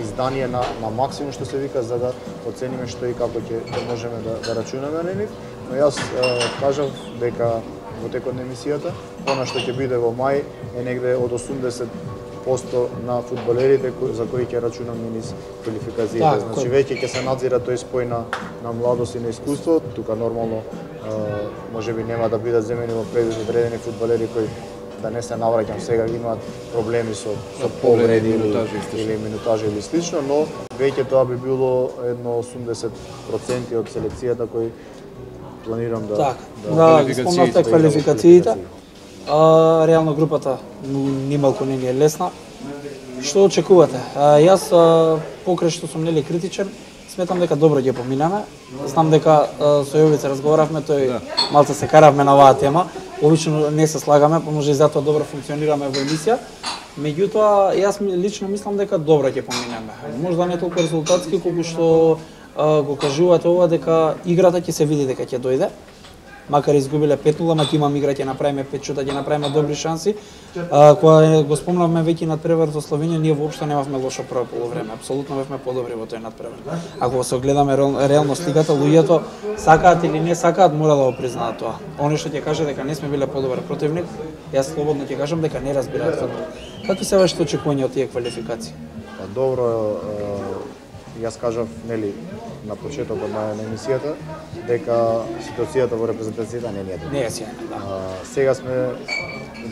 издание на на максимум што се вика, за да оцениме што и како ќе ќе можеме да да рачунаме на нив. Но јас кажав дека во текот на емисијата, она што ќе биде во мај е негде од осумдесет посто на фудбалерите за кои ќе рачунам низ квалификациите. Да, значи веќе ќе се надзира тој спој на на младост и на искуство. Тука нормално можеби нема да бидат земени во предвид одредени фудбалери кои да не се навраќам сега имаат проблеми со со повреди или или минутажи или слично, но веќе тоа би било едно осумдесет проценти од селекцијата кои планирам да так, да, да спомнавте квалификациите. А, реално групата нималку не ни е лесна. Што очекувате? А, јас а, покрај што сум нели критичен, сметам дека добро ќе поминеме. Знам дека а, со Јовица разговаравме, тој да. Малце се каравме на оваа тема. Обично не се слагаме, па може и затоа добро функционираме во емисија. Меѓутоа, јас лично мислам дека добро ќе поминеме. Можда не толку резултатски колку што а, го кажувате ова дека играта ќе се види дека ќе дојде. Макар изгубиле пет нула, ма ќе имаме игра, ќе направиме пет шута, ќе направиме добри шанси. А, кога го спомнавме веќе надпревар со Словенија, ние воопшто немавме лошо прво полувреме. Апсолутно бевме подобри во тој надпревар. Ако се огледаме реално сликата, луѓето сакаат или не сакаат, мора да го признаат тоа. Оно што ќе каже дека не сме биле подобар противник, јас слободно ќе кажам дека не разбираат фудбал. Какви се вашите очекувања од тие квалификации? Па добро, јас кажав нели на почетокот на емисијата дека ситуацијата во репрезентацијата не е добра. Не е сјајна, да. А, сега сме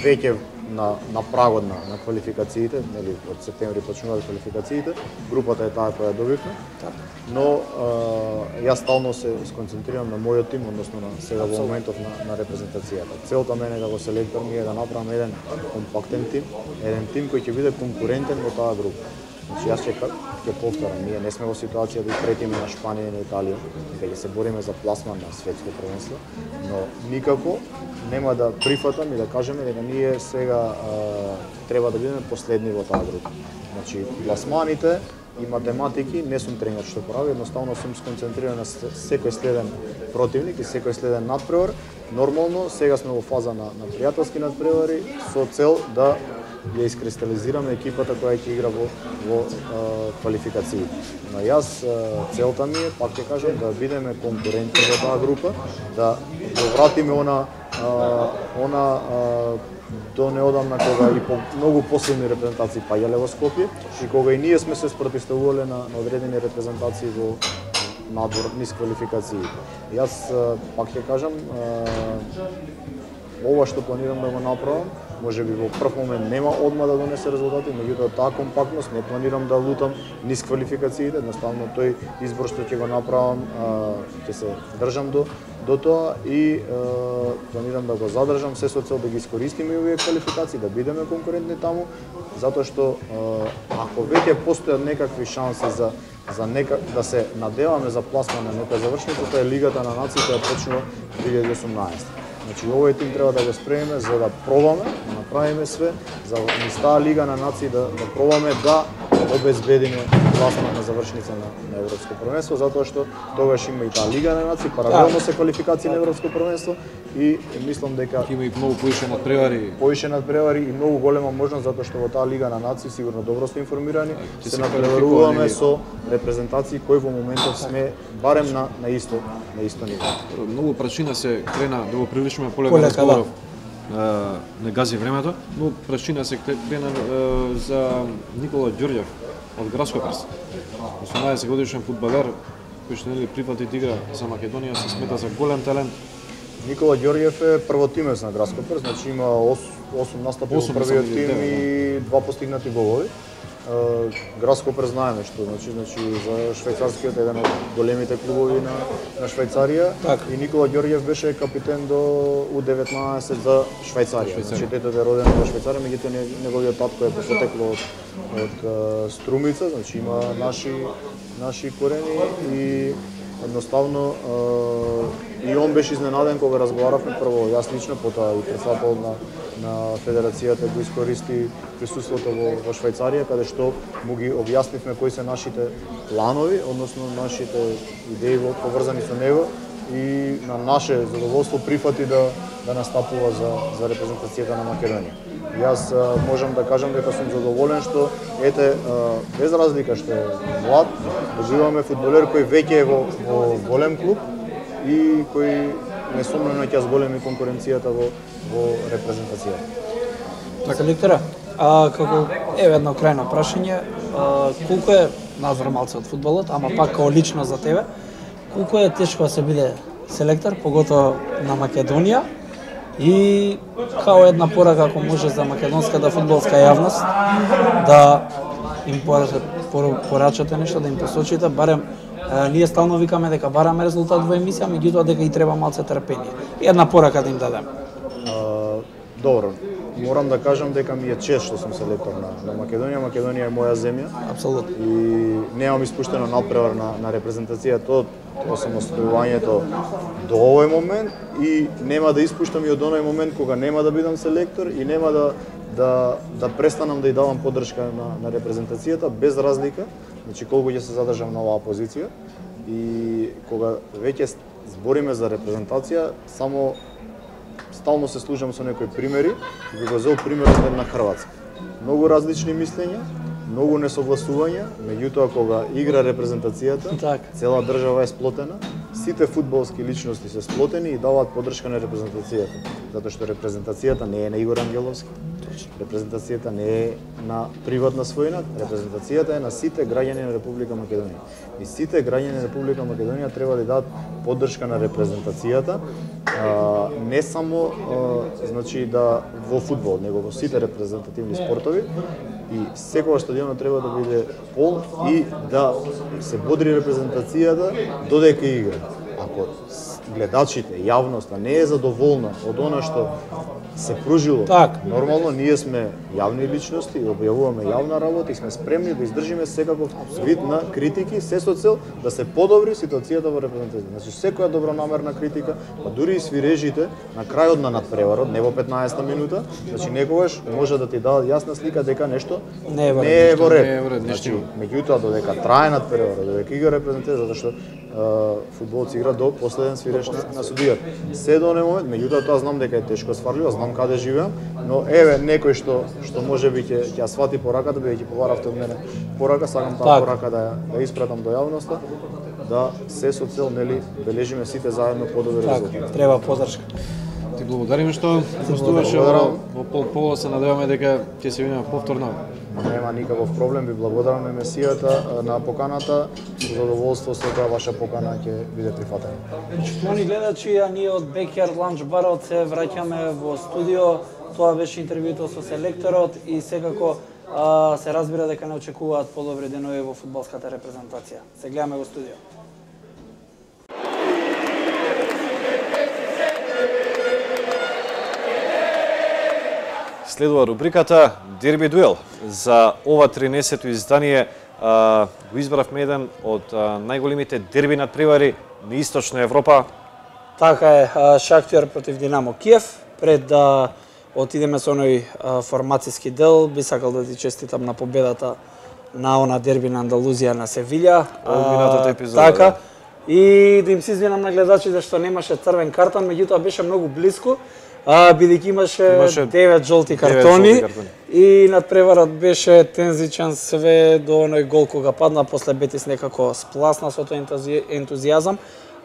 веќе на на прагот на, на квалификациите, нели од септември почнуваат квалификациите. Групата е таа која добивме. Така. Но а, јас стално се сконцентрирам на мојот тим, односно на сега во моментов на, на репрезентацијата. Целта мене како селектор ми е да направам еден компактен тим, еден тим кој ќе биде конкурентен во таа група. Значи јас ќе ќе повторам, ние не сме во ситуација да претиме на Шпанија и на Италија, дека ќе се бориме за пласман на светско првенство, но никако нема да прифатам и да кажеме дека ние сега а, треба да бидеме последни во таа група. Значи пласманите и математики не сум тренер што прави, едноставно сум сконцентриран на секој следен противник и секој следен надпревар. Нормално сега сме во фаза на на пријателски надпревари со цел да ја искристализираме екипата која ќе игра во во квалификации. Но јас целта ми е, пак ќе кажам, да бидеме конкурентни во таа група, да го вратиме она а, она а, до неодамна кога и по многу посилни репрезентации паѓале во Скопје и кога и ние сме се спротивставувале на, на одредени репрезентации во надвор низ квалификации. Јас пак ќе кажам, ова што планирам да го направам, може би во прв момент нема одма да донесе резултати, меѓутоа таа компактност не планирам да лутам низ квалификациите, едноставно тој избор што ќе го направам, ќе се држам до до тоа и планирам да го задржам се со цел да ги искористиме овие квалификации, да бидеме конкурентни таму, затоа што ако веќе постојат некакви шанси за за нека да се надеваме за пласман на некоја завршница, тоа е Лигата на нациите ја почнува две илјади и осумнаесета. Значи овој тим треба да го спремиме за да пробаме, да направиме све за низ таа Лига на нации да, да пробаме да обезбедиме пласман на завршница на, на Европско првенство, затоа што тогаш има и таа Лига на нации, паралелно се квалификации на Европско првенство и мислам дека има и многу поише надпревари. Поише надпревари и многу голема можност затоа што во таа Лига на нации сигурно добро сте информирани, се надпреваруваме со репрезентации кои во моментов сме барем на на исто на исто ниво. Многу причина се крена да го привлечеме полека разговоров. Не гази времето, но причина се крена за Никола Ѓорѓев од Градско Прст. осумнаесет годишен фудбалер кој што нели прифати да игра за Македонија, се смета за голем талент. Никола Ѓорѓев е првотимец на Градско Прст, значи има осум настапи во првиот тим и два постигнати голови. Градско Прст знаеме што значи значи за швајцарскиот еден од големите клубови на на Швајцарија так. И Никола Ѓорѓев беше капитен до У деветнаесет за Швајцарија. Значи детето е родено во Швајцарија, меѓутоа неговиот татко е потекло од од Струмица, значи има наши наши корени и едноставно и он беше изненаден кога разговаравме прво јас лично, потоа и председател на на федерацијата го искористи присуството во, во Швајцарија, каде што му ги објаснивме кои се нашите планови, односно нашите идеи поврзани со него и на наше задоволство прифати да да настапува за за репрезентацијата на Македонија. Јас а, можам да кажам дека сум задоволен што ете а, без разлика што е млад, добиваме фудбалер кој веќе е во, во голем клуб и кој несомнено ќе зголеми конкуренцијата во во репрезентацијата. Така лектора, а како еве едно крајно прашање, а, колку е Назор малце од фудбалот, ама пак како лично за тебе, колку е тешко да се биде селектор, поготово на Македонија и као една порака ако може за македонската фудбалска јавност да им порачате нешто, да им посочите, барем е, ние стално викаме дека бараме резултат во емисија, меѓутоа дека и треба малце трпение. И една порака да им дадем. Uh, добро, морам да кажам дека ми е чест што сум селектор на, на Македонија. Македонија е моја земја. Апсолутно. И немам испуштено надпревар на, на репрезентацијата од осамостојувањето до овој момент и нема да испуштам и од оној момент кога нема да бидам селектор и нема да да да престанам да ја давам поддршка на на репрезентацијата без разлика, значи колку ќе се задржам на оваа позиција и кога веќе збориме за репрезентација, само стално се служам со некои примери и би го зел примерот на Хрватска. Многу различни мислења, многу несогласувања, меѓутоа кога игра репрезентацијата, так. Цела држава е сплотена, сите фудбалски личности се сплотени и даваат поддршка на репрезентацијата, затоа што репрезентацијата не е на Игор Ангеловски. Репрезентацијата не е на приватна својина, репрезентацијата е на сите граѓани на Република Македонија. И сите граѓани на Република Македонија треба да дадат поддршка на репрезентацијата, а, не само а, значи да во фудбал, него во сите репрезентативни спортови и секогаш стадионот треба да биде пол и да се бодри репрезентацијата додека игра. Ако гледачите, јавноста не е задоволна од она што се пружило, так. Нормално ние сме јавни личности, објавуваме јавна работа и сме спремни да издржиме секаков вид на критики, се со цел да се подобри ситуацијата во репрезентацијата. Значи секоја добронамерна критика, па дури и свирежите на крајот на надпреварот, не во петнаесетта минута, значи некогаш може да ти дадат јасна слика дека нешто не е во ред. Не е во ред. Не е во ред. Значи, меѓутоа додека трае надпреварот, додека игра репрезентација, затоа што фудбалот се игра до последен свиреш на, на судијата. Се до оној момент, меѓутоа тоа знам дека е тешко сварливо, знам каде живеам, но еве некој што што можеби ќе ќе ја свати пораката, бидејќи побаравте од мене порака, сакам таа порака да да испратам до јавноста, да се со цел нели бележиме сите заедно подобри резултати. Треба поддршка. Ти благодариме што гостуваше во Пол Поло, се надеваме дека ќе се видиме повторно. Нема никаков проблем, ви благодарам на емисијата, на поканата, со задоволство секоја ваша покана ќе биде прифатена. Почитувани гледачи, а ние од Backyard Lunch Barот се враќаме во студио. Тоа беше интервјуто со селекторот и секако а, се разбира дека не очекуваат подобри денови во фудбалската репрезентација. Се гледаме во студио. Следува рубриката Дерби дуел за ова тринесето издание го избравме еден од најголемите дерби надпревари на Источна Европа. Така е, Шахтер против Динамо Киев. Пред да отидеме со оној формацијски дел, би сакал да ти честитам на победата на она дерби на Андалузија на Севилја. Минатата епизода. Така. И да им се извинам на гледачите што немаше црвен картон, меѓутоа беше многу блиску, бидејќи имаше, имаше девет жолти картони, картони и надпреварот беше тензичен све до оној гол кога падна, после Бетис некако спласна со тој ентузијазам,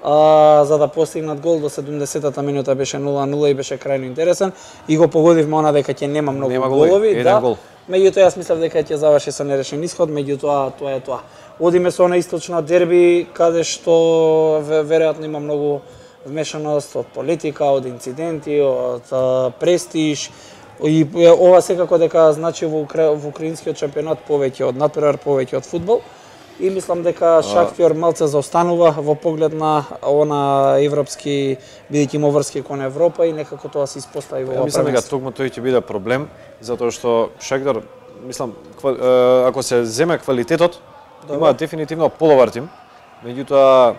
а, за да постигнат гол до седумдесетата минута беше нула нула и беше крајно интересен и го погодивме она дека ќе нема многу нема голови, еден да. Гол. Меѓутоа јас мислев дека ќе заврши со нерешен исход, меѓутоа тоа е тоа. Одиме со на источно дерби каде што веројатно има многу вмешаност од политика, од инциденти, од престиж и ова секако дека значи во, Укра... во украинскиот шампионат повеќе од надпревар, повеќе од фудбал. И мислам дека Шахтер малце заостанува во поглед на она европски, бидејќи има врски кон Европа и некако тоа се испостави во ова. Мислам дека токму тој ќе биде проблем, затоа што Шахтер, мислам, ако се земе квалитетот, има дефинитивно половар тим, меѓутоа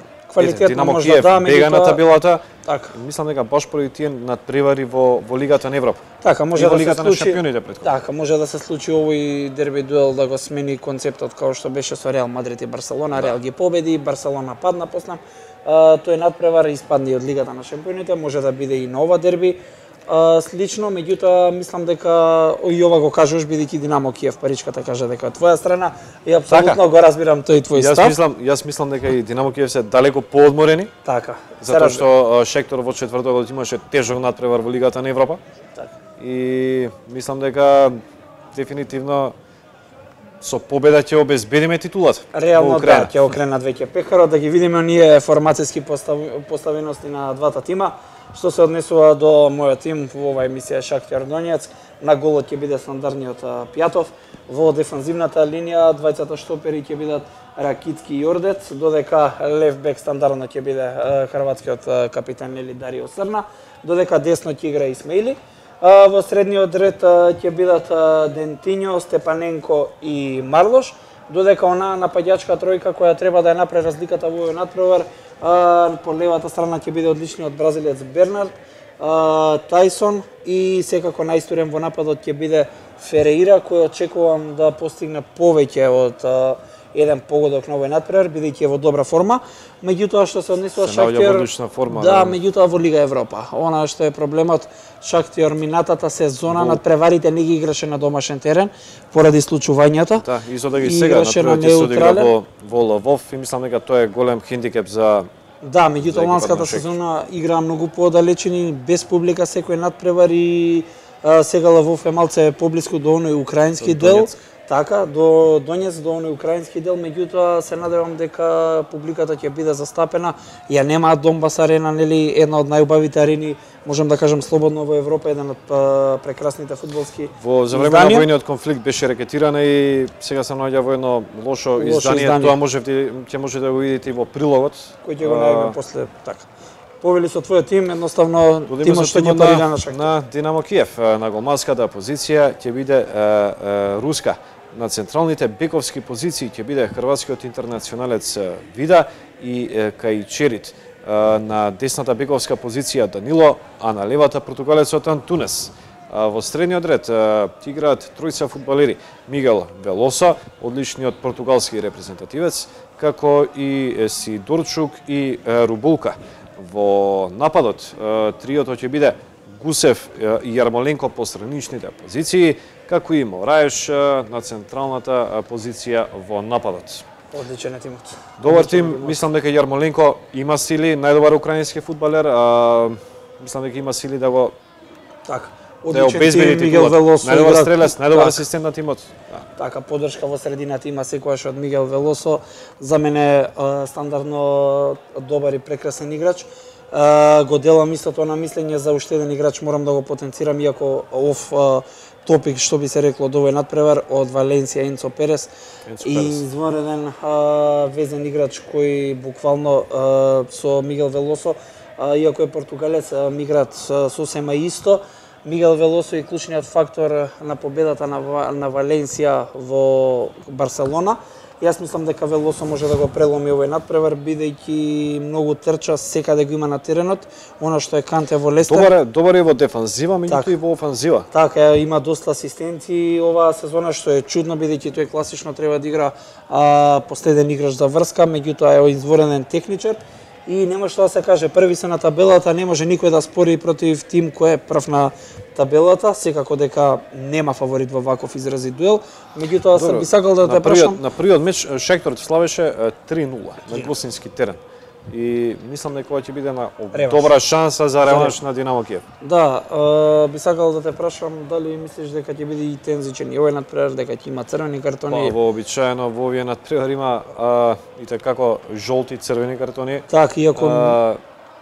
Динамо Киев да, бега на табелата. Така. Мислам дека баш поради тие надпревари во во Лигата на Европа. Така, може да Лигата се случи. На шампионите претходно. Така, може да се случи овој дерби дуел да го смени концептот како што беше со Реал Мадрид и Барселона. Да. Реал ги победи, Барселона падна после. Тој надпревар испадни од Лигата на шампионите, може да биде и нова дерби. Uh, слично, меѓутоа мислам дека и ова го кажеш бидејќи Динамо Киев паричката кажа дека е твоја страна и апсолутно така го разбирам тој твој јас став. Мислам, јас мислам дека и Динамо Киев се далеко поодморени. Така. Затоа што Шахтер во четвртокот имаше тежок надпревар во Лигата на Европа. Така. И мислам дека дефинитивно со победа ќе обезбедиме титулата. Реално да, ќе окренат веќе пехарот, да ги видиме оние формацијски постав... поставености на двата тима. Што се однесува до мојот тим во оваа емисија Шахтер Донецк, на голот ќе биде стандардниот Пјатов, во дефанзивната линија двајцата штопери ќе бидат Ракицки и Ордец, додека лев бек стандардно ќе биде хрватскиот капитан или Дарио Срна, додека десно ќе игра Исмаили. Во средниот ред ќе бидат Дентиньо, Степаненко и Марлош, додека она нападјачка тројка која треба да ја направи разликата во овој надпревар, по левата страна ќе биде одличниот бразилец Бернард, Тајсон и секако најстурен во нападот ќе биде Ферейра, кој очекувам да постигне повеќе од еден погодок на овој надпревар, бидејќи е во добра форма. Меѓутоа што се однесува Шахтер, да, меѓутоа во Лига Европа. Она што е проблемот, Шахтер минатата сезона во... надпреварите не ги играше на домашен терен поради случувањата. Да, и за да ги сега надпреварите се одигра во во Лвов и мислам дека тоа е голем хендикеп за да, меѓутоа ланската сезона игра многу подалечени, без публика секој надпревар и сега Лвов е малце поблиску до оној украински дел. Така, до Донец, до оној украински дел, меѓутоа се надевам дека публиката ќе биде застапена. Ја нема Донбас арена, нели, една од најубавите арени, можам да кажам слободно во Европа, еден од прекрасните фудбалски Во за време на војниот конфликт беше рекетирана и сега се наоѓа во едно лошо, лошо издание. издание. Тоа може ќе можете да го видите и во прилогот. Кој ќе го најдеме после така. Повели со твојот тим, едноставно тимот што ќе парира на Шахтер. На Динамо Киев, на голманската позиција ќе биде е, е, руска. На централните бековски позиции ќе биде хрватскиот интернационалец Вида и е, Кајчерит. Е, на десната бековска позиција Данило, а на левата португалецот Антунес. Е, во средниот ред ќе играат тројца фудбалери: Мигел Велосо, одличниот португалски репрезентативец, како и Сидорчук и е, Рубулка. Во нападот триото ќе биде Гусев и Јармоленко по страничните позиции, како и Мораеш на централната позиција во нападот. Одличен е тимот. Добар тим, мислам дека Јармоленко има сили, најдобар украински фудбалер, а мислам дека има сили да го така. Одличен тим, Мигел Велосо, најдобар стрелец, најдобар асистент на тимот. Така, поддршка во средината има секојаш од Мигел Велосо. За мене стандардно добар и прекрасен играч. Го делам истото на мислење за уште еден играч, морам да го потенцирам, иако ов топик, што би се рекло, до овој надпревар од Валенсија, Енцо Перес. Енцо и извонреден везен играч кој буквално со Мигел Велосо, иако е португалец, миграат сосема исто. Мигел Велосо е клучниот фактор на победата на, на Валенсија во Барселона Јас мислам дека Велосо може да го преломи овој надпревар, бидејќи многу трча, секаде го има на теренот, она што е Канте во Лестер. Добар е, добар е во дефанзива, меѓутоа и во офанзива. Така, има доста асистенти оваа сезона, што е чудно, бидејќи тој класично треба да игра а, последен играч за врска, меѓутоа е изворенен техничар. И нема што да се каже, први се на табелата, не може никој да спори против тим кој е прв на табелата, секако дека нема фаворит во ваков изразит дуел, меѓутоа сам би сакал да те прашам. На првиот меч Шехтор славеше три нула на гостински терен. И мислам дека ова ќе биде една добра шанса за реванш на Динамо Киев. Да, е, би сакал да те прашам дали мислиш дека ќе биде и тензичен и овој надпревар, дека ќе има црвени картони? Па, вообичаено во овие надпревар има а, и како жолти црвени картони. Так, иако а,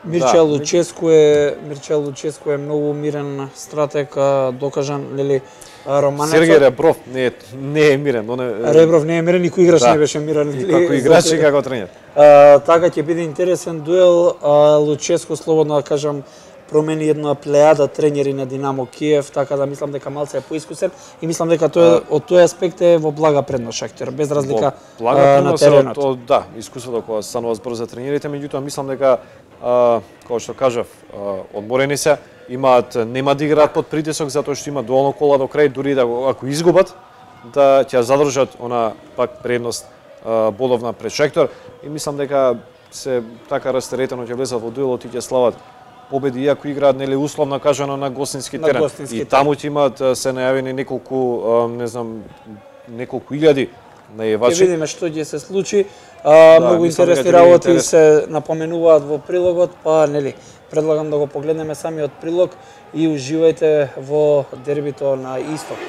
Мирчел да. Луческу е Мирчел Луческу е многу мирен стратег, докажан, нели, романецот. Сергеј Ребров не е не е мирен, он е Ребров не е мирен, никој играч да. Не беше мирен. И како играч и како тренер. А, така ќе биде интересен дуел. А, Луческу, слободно да кажам, промени една плејада тренери на Динамо Киев, така да мислам дека малце е поискусен и мислам дека тој а, од тој аспект е во блага предност Шахтер, без разлика а, на теренот. Од, да, искуството кога станува збор за тренерите, меѓутоа мислам дека а, како што кажав, а, одморени се, имаат нема да играат под притисок затоа што има доволно кола до крај, дури да ако изгубат да ќе задржат она пак предност а, бодовна пред Шахтер и мислам дека се така растеретено ќе влезат во дуелот и ќе слават победи, иако играат нели условно кажано на гостински на терен. Гостински и терен. таму ќе имаат се најавени неколку, не знам, неколку илјади најавачи. Ќе видиме што ќе се случи. А, да, многу интересни работи интерес... се напоменуваат во прилогот, па нели предлагам да го погледнеме самиот прилог и уживајте во дербито на Исток.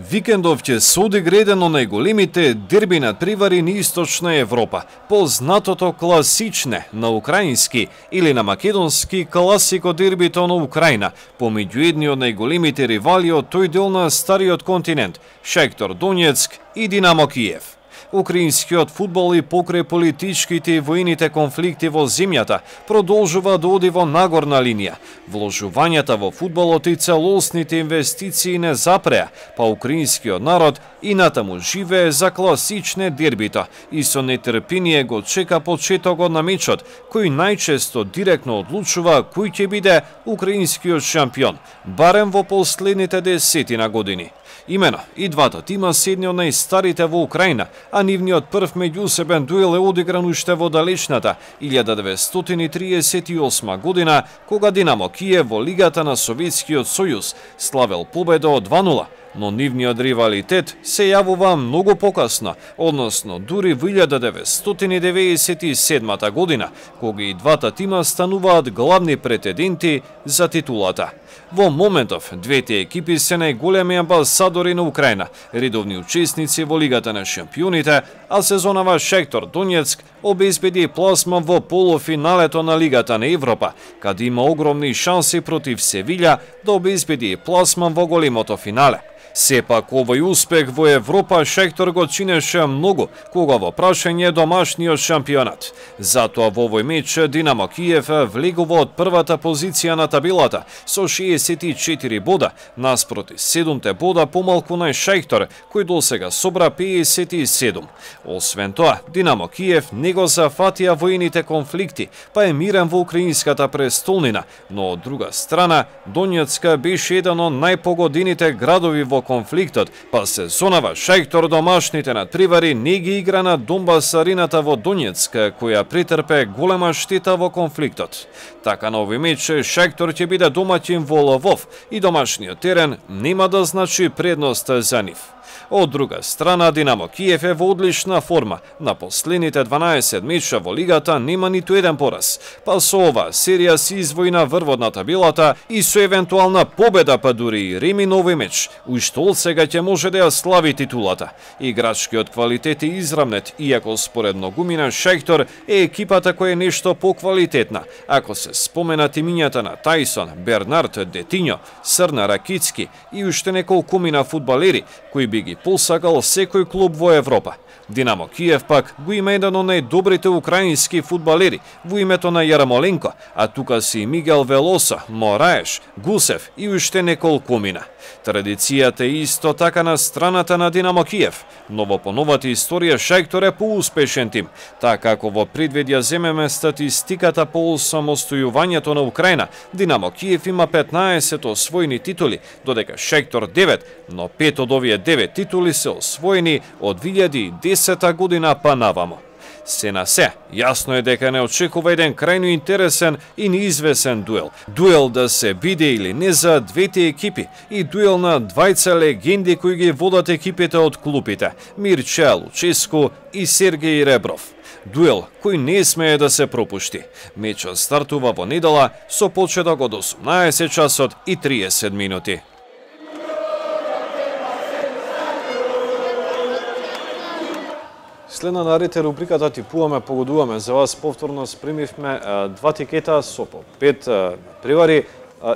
Викендов ќе се одигра еден од најголемите дерби надпревари на Источна Европа, познатото класичне на украински или на македонски класико дербито на Украина, помеѓу едни од најголемите ривали од тој дел на стариот континент, Шахтер Донецк и Динамо Киев. Украинскиот фудбал и покрај политичките и воените конфликти во земјата продолжува да оди во нагорна линија. Вложувањата во фудбалот и целосните инвестиции не запреа, па украинскиот народ и натаму живее за класичне дербита и со нетрпение го чека почетокот на мечот, кој најчесто директно одлучува кој ќе биде украинскиот шампион, барем во последните десетина години. Имено, и двата тима се едни од најстарите во Украина, а нивниот прв меѓусебен дуел е одигран уште во далечната илјада деветстотини триесет и осма година, кога Динамо Киев во Лигата на Советскиот сојуз славел победа од два нула, но нивниот ривалитет се јавува многу покасно, односно дури во илјада деветстотини деветдесет и седма година, кога и двата тима стануваат главни претенденти за титулата. Во моментов, двете екипи се најголеми амбасадори на Украина, редовни учесници во Лигата на шампионите, а сезонава Шахтер Донецк обезбеди пласман во полуфиналето на Лигата на Европа, каде има огромни шанси против Севиља да обезбеди пласман во големото финале. Сепак овој успех во Европа Шахтер го чинеше многу кога во прашање домашниот шампионат. Затоа во овој меч Динамо Киев влегува од првата позиција на табелата со шеесет и четири бода, наспроти седумте бода помалку на Шахтер, кој досега собра пеесет и седум. Освен тоа, Динамо Киев не го зафатија воените конфликти, па е мирен во украинската престолнина, но од друга страна Донецка беше еден од најпогодените градови во конфликтот, па сезонава Шахтер домашните надпревари не ги игра на Донбас арената во Донецк, која претрпе голема штета во конфликтот. Така на овој меч Шахтер ќе биде домаќин во Лвов и домашниот терен нема да значи предност за нив. Од друга страна, Динамо Киев е во одлична форма. На последните дванаесет меча во лигата нема ниту еден пораз. Па со ова серија си извојна врвот на табелата и со евентуална победа, па дури и реми на овој меч, уште од сега ќе може да ја слави титулата. Играчкиот квалитет е израмнет, иако според многумина Шахтер е екипата која е нешто поквалитетна. Ако се споменат имињата на Тајсон, Бернард, Детиньо, Срна Ракицки и уште неколку мина фудбалери, кои би ги посакал секој клуб во Европа. Динамо Киев пак го има еден од најдобрите украински фудбалери во името на Јарамоленко, а тука си Мигел Велоса, Мораеш, Гусев и уште неколкумина. Традицијата е исто така на страната на Динамо Киев, но во поновата историја Шахтор е поуспешен тим, така како во предвид ја земеме статистиката по осамостојувањето на Украина. Динамо Киев има петнаесет освоени титули, додека Шахтор девет, но пет од овие девет титули се освоени од две илјади и десета година па навамо. Се на се, јасно е дека не очекува еден крајно интересен и неизвесен дуел. Дуел да се биде или не за двете екипи и дуел на двајца легенди кои ги водат екипите од клупите – Мирча Луческу и Сергеј Ребров. Дуел кој не смее да се пропушти. Мечот стартува во недела со почеток од осумнаесет часот и триесет минути. Следна наред е рубриката Типуваме, погодуваме. За вас повторно спремивме два тикета со по пет превари,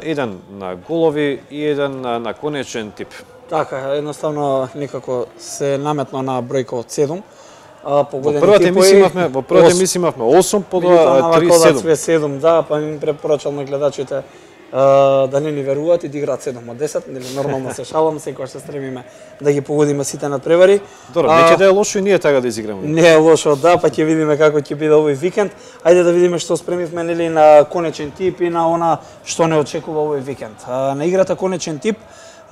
еден на голови и еден на конечен тип. Така, едноставно некако се наметно на бројка од седум. Во првата емисија имавме, во првата емисија имавме осум, подоа три седум. седум, да, па им препорачал на гледачите да не ни веруваат и да играат седум од десет, нели нормално се шалам, секогаш се стремиме да ги погодиме сите надпревари. Добро, не ќе да е лошо и ние така да изиграме. Не е лошо, да, па ќе видиме како ќе биде овој викенд. Ајде да видиме што спремивме нели на конечен тип и на она што не очекува овој викенд. На играта конечен тип,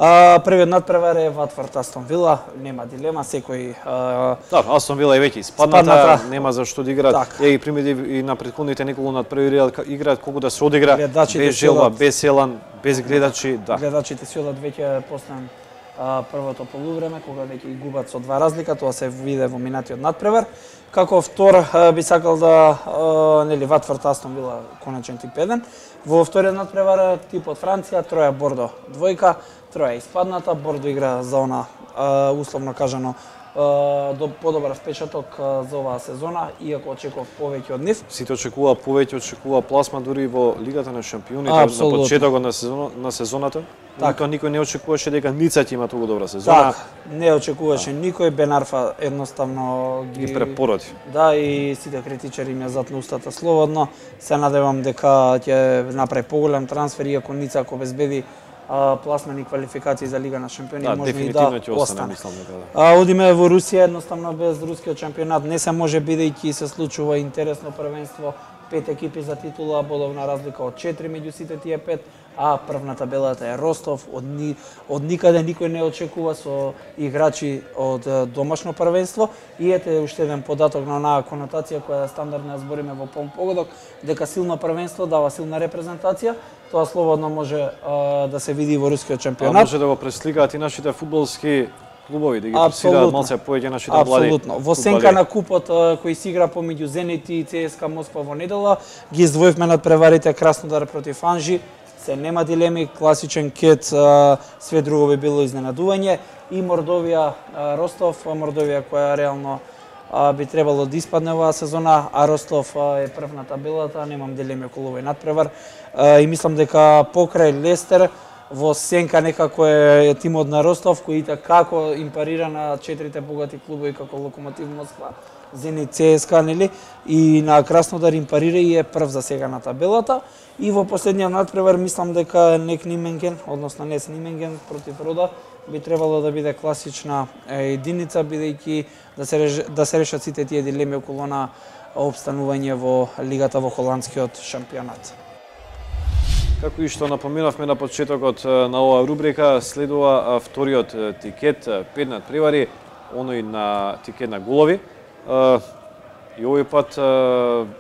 А, првиот надпревар е Ватфорд Астон Вила, нема дилема, секој... А... Да, Астон Вила е веќе испадната, спадната, нема за што да играат. Ја ги примеди и на претходните неколку надпревари играат колку да се одигра, без желба, без елан, без гледачи, да. Гледачите си одат веќе после првото полувреме, кога веќе ги губат со два разлика, тоа се виде во минатиот надпревар. Како втор би сакал да нели Ватфорд Астон Вила конечен тип еден. Во вториот надпревар тип од Франција, Троја Бордо двојка, Троја испадната, Бордо игра за она условно кажано до подобар впечаток за оваа сезона, иако очекував повеќе од нив. Сите очекува повеќе, очекува пласма дури во Лигата на шампионите на почетокот на сезона, на сезоната. Така никој не очекуваше дека Ница ќе има толку добра сезона. Так, не очекуваше да. Никој, Бен Арфа едноставно ги, ги препороди. Да, и сите критичари им ја затна устата слободно. Се надевам дека ќе направи поголем трансфер, иако Ница ако обезбеди пласмени квалификации за Лига на шампиони, да, може и да да остане. Мислам, дека, да. А, одиме во Русија, едноставно без рускиот шампионат не се може, бидејќи се случува интересно првенство, пет екипи за титула, бодовна разлика од четири меѓу сите тие пет, а прв на табелата е Ростов, од, ни, од никаде никој не очекува со играчи од домашно првенство. И ете уште еден податок на онаа конотација која е стандардна, збориме во полн погодок, дека силно првенство дава силна репрезентација. Тоа слободно може а, да се види во рускиот шампионат. А може да го пресликаат и нашите фудбалски клубови, да ги форсираат малце повеќе нашите млади. Апсолутно. Во сенка на купот кој се игра помеѓу Зенит и ЦСКА Москва во недела, ги издвоивме надпреварите Краснодар против Анжи. Се нема дилеми, класичен кет, све друго би било изненадување. И Мордовија Ростов, Мордовија која реално би требало да испадне оваа сезона, а Ростов е прв на табелата, немам дилеми околу овој надпревар. И мислам дека покрај Лестер во сенка некако е тимот на Ростов, кој и како им парира на четирите богати клубови како Локомотив Москва, Зенит, ЦСКА, нели, и на Краснодар им парира и е прв за сега на табелата. И во последниот надпревар мислам дека Нек Нименген, односно Нес Нименген против Рода, би требало да биде класична единица, бидејќи да се реш, да се решат сите тие дилеми околу на обстанување во лигата во холандскиот шампионат. Како и што напоменавме на почетокот на оваа рубрика, следува вториот тикет, пет надпревари, оној на тикет на голови. И овој пат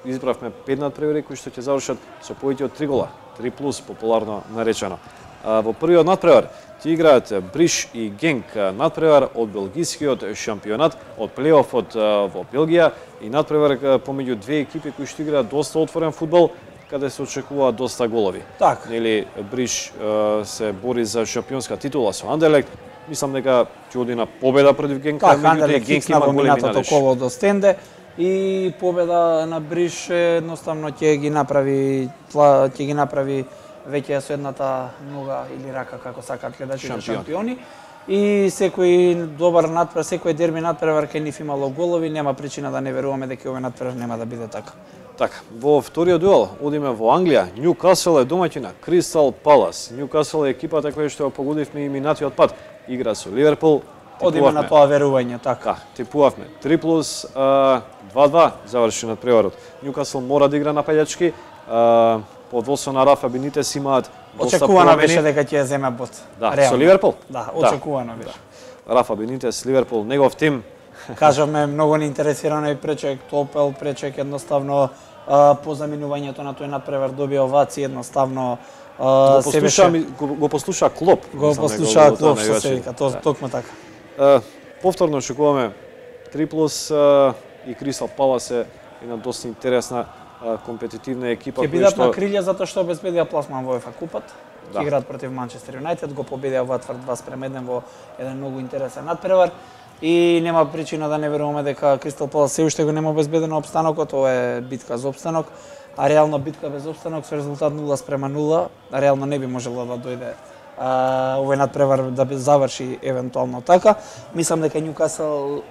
избравме пет надпревари кои што ќе завршат со повеќе од три гола, три плюс популарно наречено. Во првиот надпревар ќе играат Бриш и Генк, надпревар од белгискиот шампионат, од плейофот во Белгија и надпревар помеѓу две екипи кои што играат доста отворен фудбал, каде се очекуваат доста голови. Так. Нели Бриш се бори за шампионска титула со Андерлект. Мислам дека ќе оди на победа против Генк, так, меѓутоа Генк има големи надежди. Коло до Стенде и победа на Бриш едноставно ќе ги направи ќе ги направи веќе со едната нога или рака, како сакаат гледачите, шампиони. и секој добар надпревар, секој дерби надпревар кај нив имало голови, нема причина да не веруваме дека овој надпревар нема да биде така. Така, во вториот дуел одиме во Англија. Нјукасл е домаќин на Кристал Палас. Нјукасл е екипата која што ја погодивме и минатиот пат. Игра со Ливерпул. Одиме на тоа верување, така. Типувавме три плюс два-два заврши надпреварот. Нјукасл мора да игра напаѓачки. Под водство на Рафа Бенитес имаат доста промени. Очекувано беше дека ќе ја земе бот. Да, реално. Со Ливерпул? Да, очекувано да. беше. Рафа Бенитес, Ливерпул, негов тим. Кажавме, многу не интересирано и Пречек, Топел, Пречек едноставно а, по заминувањето на тој надпревар доби овации, едноставно а, го послуша, беше... го, го послуша Клоп. Го послуша Клоп, што се вика, то, да. Токму така. А, повторно очекуваме три плюс а, и Кристал Палас е една доста интересна а, компетитивна екипа. Ќе бидат што... на крилја затоа што обезбедија пласман во УЕФА купот. Да. Играат против Манчестер Юнайтед, го победија Ватфорд два спрема еден во еден многу интересен надпревар. И нема причина да не веруваме дека Кристал Палас се уште го нема обезбедено опстанокот, ова е битка за опстанок, а реално битка без опстанок со резултат нула спрема нула, реално не би можело да дојде а, овој надпревар да заврши евентуално така. Мислам дека Нјукасл,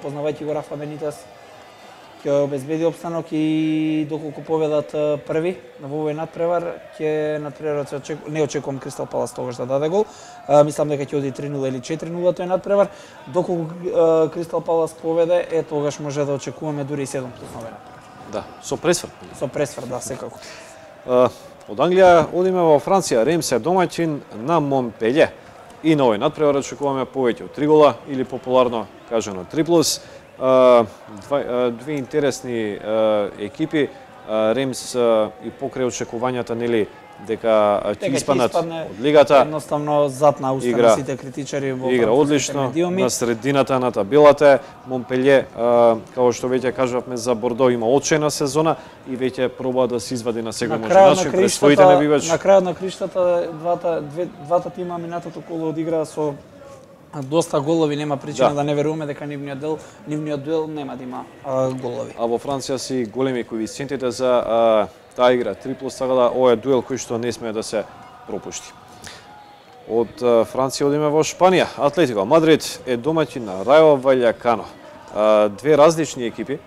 познавајќи го Рафа Бенитес, ќе обезбеди опстанок и доколку победат први во овој надпревар, ќе надпреварот се очекува, не очекувам Кристал Палас тогаш да даде гол. А, мислам дека ќе оди три нула или четири нула тој надпревар. Доколку а, Кристал Палас победе, е тогаш може да очекуваме дури и седум плюс на овој надпревар. Да, со пресвр. Со пресвр, да, секако. А, од Англија одиме во Франција, Ремс е домаќин на Монпелје. И на овој надпревар очекуваме повеќе од три гола или популарно кажано три плюс. Uh, два, две интересни uh, екипи, uh, Ремс uh, и покрај очекувањата нели дека ќе испаднат од лигата. Едноставно зад на уста на сите критичари во игра одлично на средината на табелата. Монпелје, uh, како што веќе кажавме за Бордо, има очена сезона и веќе проба да се извади на секој може начин пред своите небивачи. На крајот на криштата двата две, двата тима минатото коло одигра со доста голови, нема причина да, да не веруваме дека нивниот дел, нивниот дуел нема да има а, голови. А во Франција си големи коефициентите за а, таа игра три плюс, така да ова е дуел кој што не смее да се пропушти. Од а, Франција одиме во Шпанија. Атлетико Мадрид е домаќин на Рајо Ваљакано. А, две различни екипи.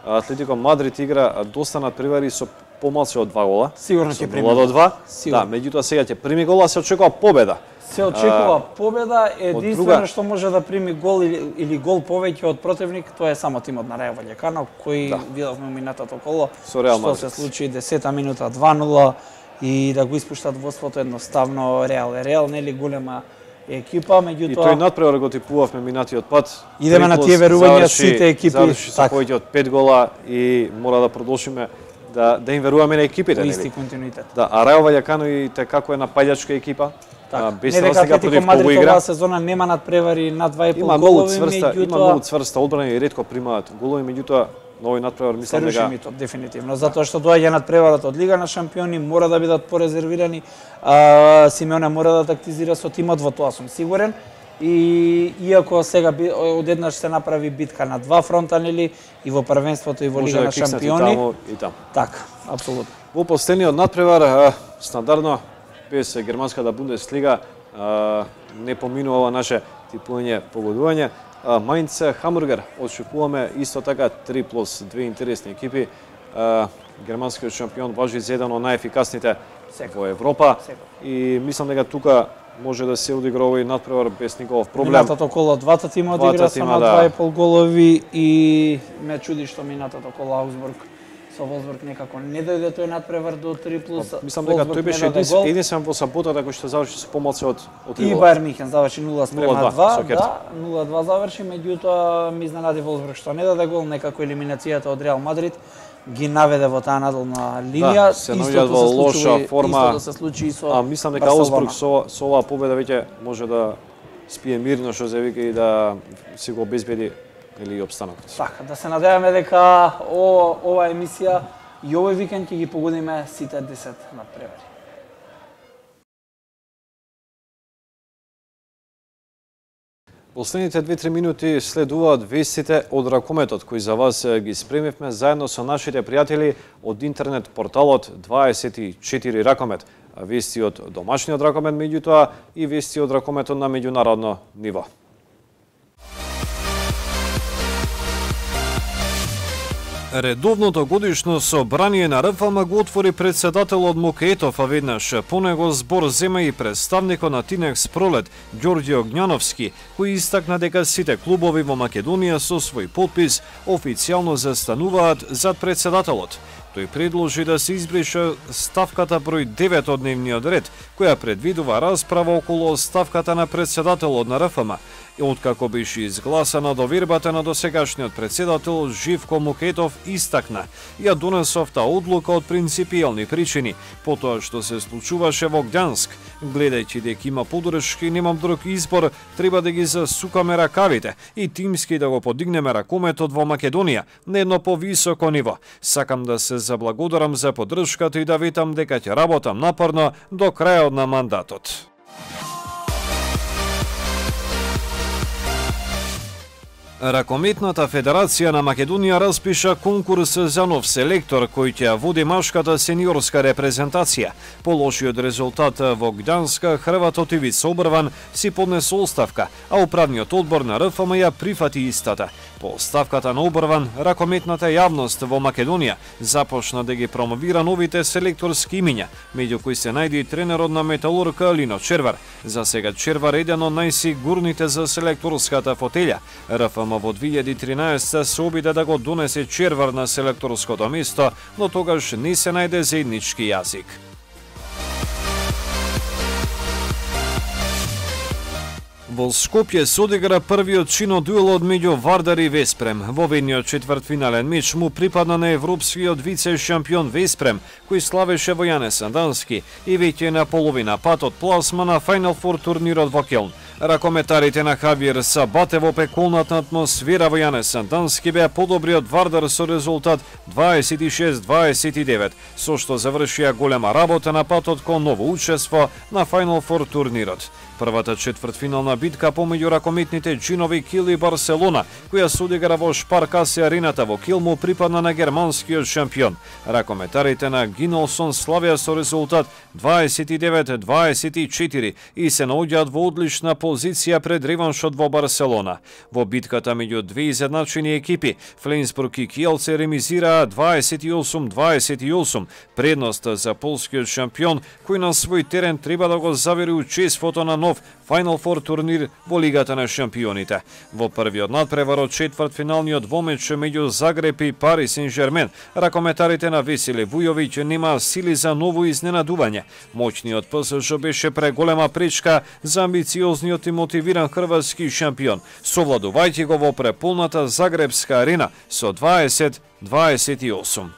Атлетико Мадрид игра доста надпревари со помалку од два гола. Сигурно ќе прими. нула до два. Да, меѓутоа сега ќе прими гола, се очекува победа. Се очекува победа, единствено друга... што може да прими гол или, или гол повеќе од противник, тоа е само тимот на Рајо Ваљакано, кој да. видовме минатото коло, што се случи десета минута два нула и да го испуштат водството едноставно Реал. Реал нели голема екипа, меѓутоа... И тој надпревар го типувавме минатиот пат. Идеме на тие верувања сите екипи. Заврши со повеќе од пет гола и мора да продолжиме да, да им веруваме на екипите. Исти континуитет. Да, а Рајо Ваљакано и како е напаѓачка екипа. Так, не дека Атлетико Мадрид оваа сезона нема надпревари над два и пол голови, меѓутоа има многу цврста одбрана и ретко примаат голови, меѓутоа на овој надпревар мислам дека митот дефинитивно, затоа што доаѓа надпреварот од Лига на шампиони, мора да бидат порезервирани. А, Симеоне мора да тактизира со тимот, во тоа сум сигурен. И иако сега одеднаш се направи битка на два фронта, нели, и во првенството и во Лига на шампиони. Тамо и таму. Така, апсолутно. Во последниот надпревар стандардно без германската Бундеслига не поминува наше типување погодување. Мајнц Хамбургер очекуваме исто така три плюс две интересни екипи. Германскиот шампион важи за еден од најефикасните во Европа и мислам дека тука може да се одигра овој надпревар без никаков проблем. Минатото коло двата тима одигра со на два и пол голови и ме чуди што минатото коло Аузбург со Волсбург некако не дојде тој надпревар до три плюс. Мислам дека тој беше единствен во саботата кој што заврши со помалку од од три гола. И Бајер Михен заврши нула спрема два, да, нула два заврши, меѓутоа ми изненади Волсбург што не даде гол, некако елиминацијата од Реал Мадрид ги наведе во таа надолна линија. Да, се наоѓаат во лоша форма. Исто да се случи и со А мислам дека Аузбург со со оваа победа веќе може да спие мирно, што се вика, и да си го обезбеди или опстанокот. Така, да се надеваме дека о, ова емисија и овој викенд ќе ги погодиме сите десет надпревари. Последните две-три минути следуваат вестите од ракометот кои за вас ги спремивме заедно со нашите пријатели од интернет порталот дваесет и четири Ракомет. вести од домашниот ракомет, меѓутоа и вести од ракометот на меѓународно ниво. Редовното годишно собрание на РФМ го отвори председателот Мукетов, а веднаш по него збор зема и представникот на Тинекс Пролет, Ѓорѓе Огњановски, кој истакна дека сите клубови во Македонија со свој подпис официјално застануваат зад председателот. Тој предложи да се избрише ставката број девет од дневниот ред, која предвидува расправа околу ставката на председателот на РФМ. И откако беше изгласана довербата на досегашниот председател Живко Мукетов истакна, ја донесов таа одлука од принципијални причини, по тоа што се случуваше во Гдјанск. Гледајќи дека има подршки, немам друг избор, треба да ги засукаме ракавите и тимски да го подигнеме ракометот во Македонија на едно повисоко ниво. Сакам да се заблагодарам за поддршката и да ветам дека ќе работам напорно до крајот на мандатот. Ракометната федерација на Македонија распиша конкурс за нов селектор кој ќе води машката сениорска репрезентација. По лошиот резултат во Гданска, Хрватот Ивица Обрван си поднесе оставка, а управниот одбор на РФМ ја прифати истата. По оставката на Обрван, ракометната јавност во Македонија започна да ги промовира новите селекторски имиња, меѓу кои се најде и тренерот на Металург Лино Червар. За сега Червар е еден од најсигурните за селекторската фотелја. РФМ во две илјади и тринаесетта се обиде да го донесе Червар на селекторското место, но тогаш не се најде заеднички јазик. Во Скопје се одигра првиот чино дуелот меѓу Вардар и Веспрем. Во ведниот четвртфинален меч му припадна на европскиот вице-шампион Веспрем, кој славеше во Јане Сандански и веќе на половина пат од пласма на Final Four турнирот во Келн. Ракометарите на Хавиер Сабате во пеколната атмосфера во Јане Сандански беа подобри од Вардар со резултат дваесет и шест дваесет и девет, со што завршија голема работа на патот кон ново учество на Final Four турнирот. Првата четвртфинална битка помеѓу ракометните джинови Кил и Барселона, која се одигра во Шпаркасе арената во Кил, му припадна на германскиот шампион. Ракометарите на Гинолсон славија со резултат дваесет и девет дваесет и четири и се наоѓаат во одлична позиција пред реваншот во Барселона. Во битката меѓу две изедначени екипи, Фленсбург и Киелце ремизираа дваесет и осум дваесет и осум, предност за полскиот шампион, кој на свој терен треба да го завери учеството на нов Final Four турнир во Лигата на шампионите. Во првиот надпревар од четвртфиналниот двомеч меѓу Загреб и Пари Сен-Жермен, ракометарите на Весели Вујовиќ немаа сили за ново изненадување. Моќниот ПСЖ беше преголема пречка за амбициозниот и мотивиран хрватски шампион, совладувајќи го во преполната Загребска арена со дваесет дваесет и осум.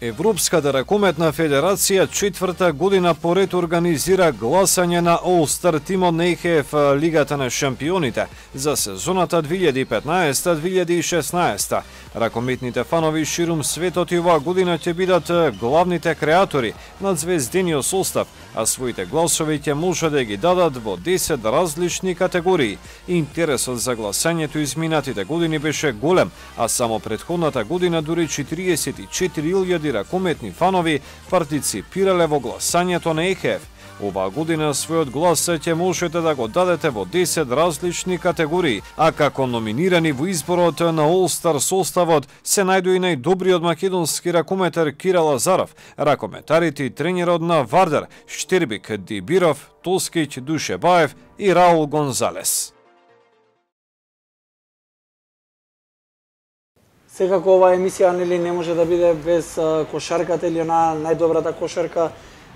Европската ракометна федерација четврта година поред организира гласање на All-Star тимот на ЕХФ Лигата на шампионите за сезоната две илјади и петнаесетта две илјади и шеснаесетта. Ракометните фанови ширум светот и оваа година ќе бидат главните креатори на звездениот состав, а своите гласови ќе може да ги дадат во десет различни категории. Интересот за гласањето изминатите години беше голем, а само претходната година дури четириесет и четири илјади ракометни фанови партиципирале во гласањето на ЕХФ. Оваа година својот глас ќе можете да го дадете во десет различни категории, а како номинирани во изборот на All-Star составот се најдоа и најдобриот македонски ракометар Кира Лазаров, ракометарите и тренерот на Вардар Штербик Дибиров, Тоскиќ Душебаев и Раул Гонзалес. Секако оваа емисија нели не може да биде без кошарката или она најдобрата кошарка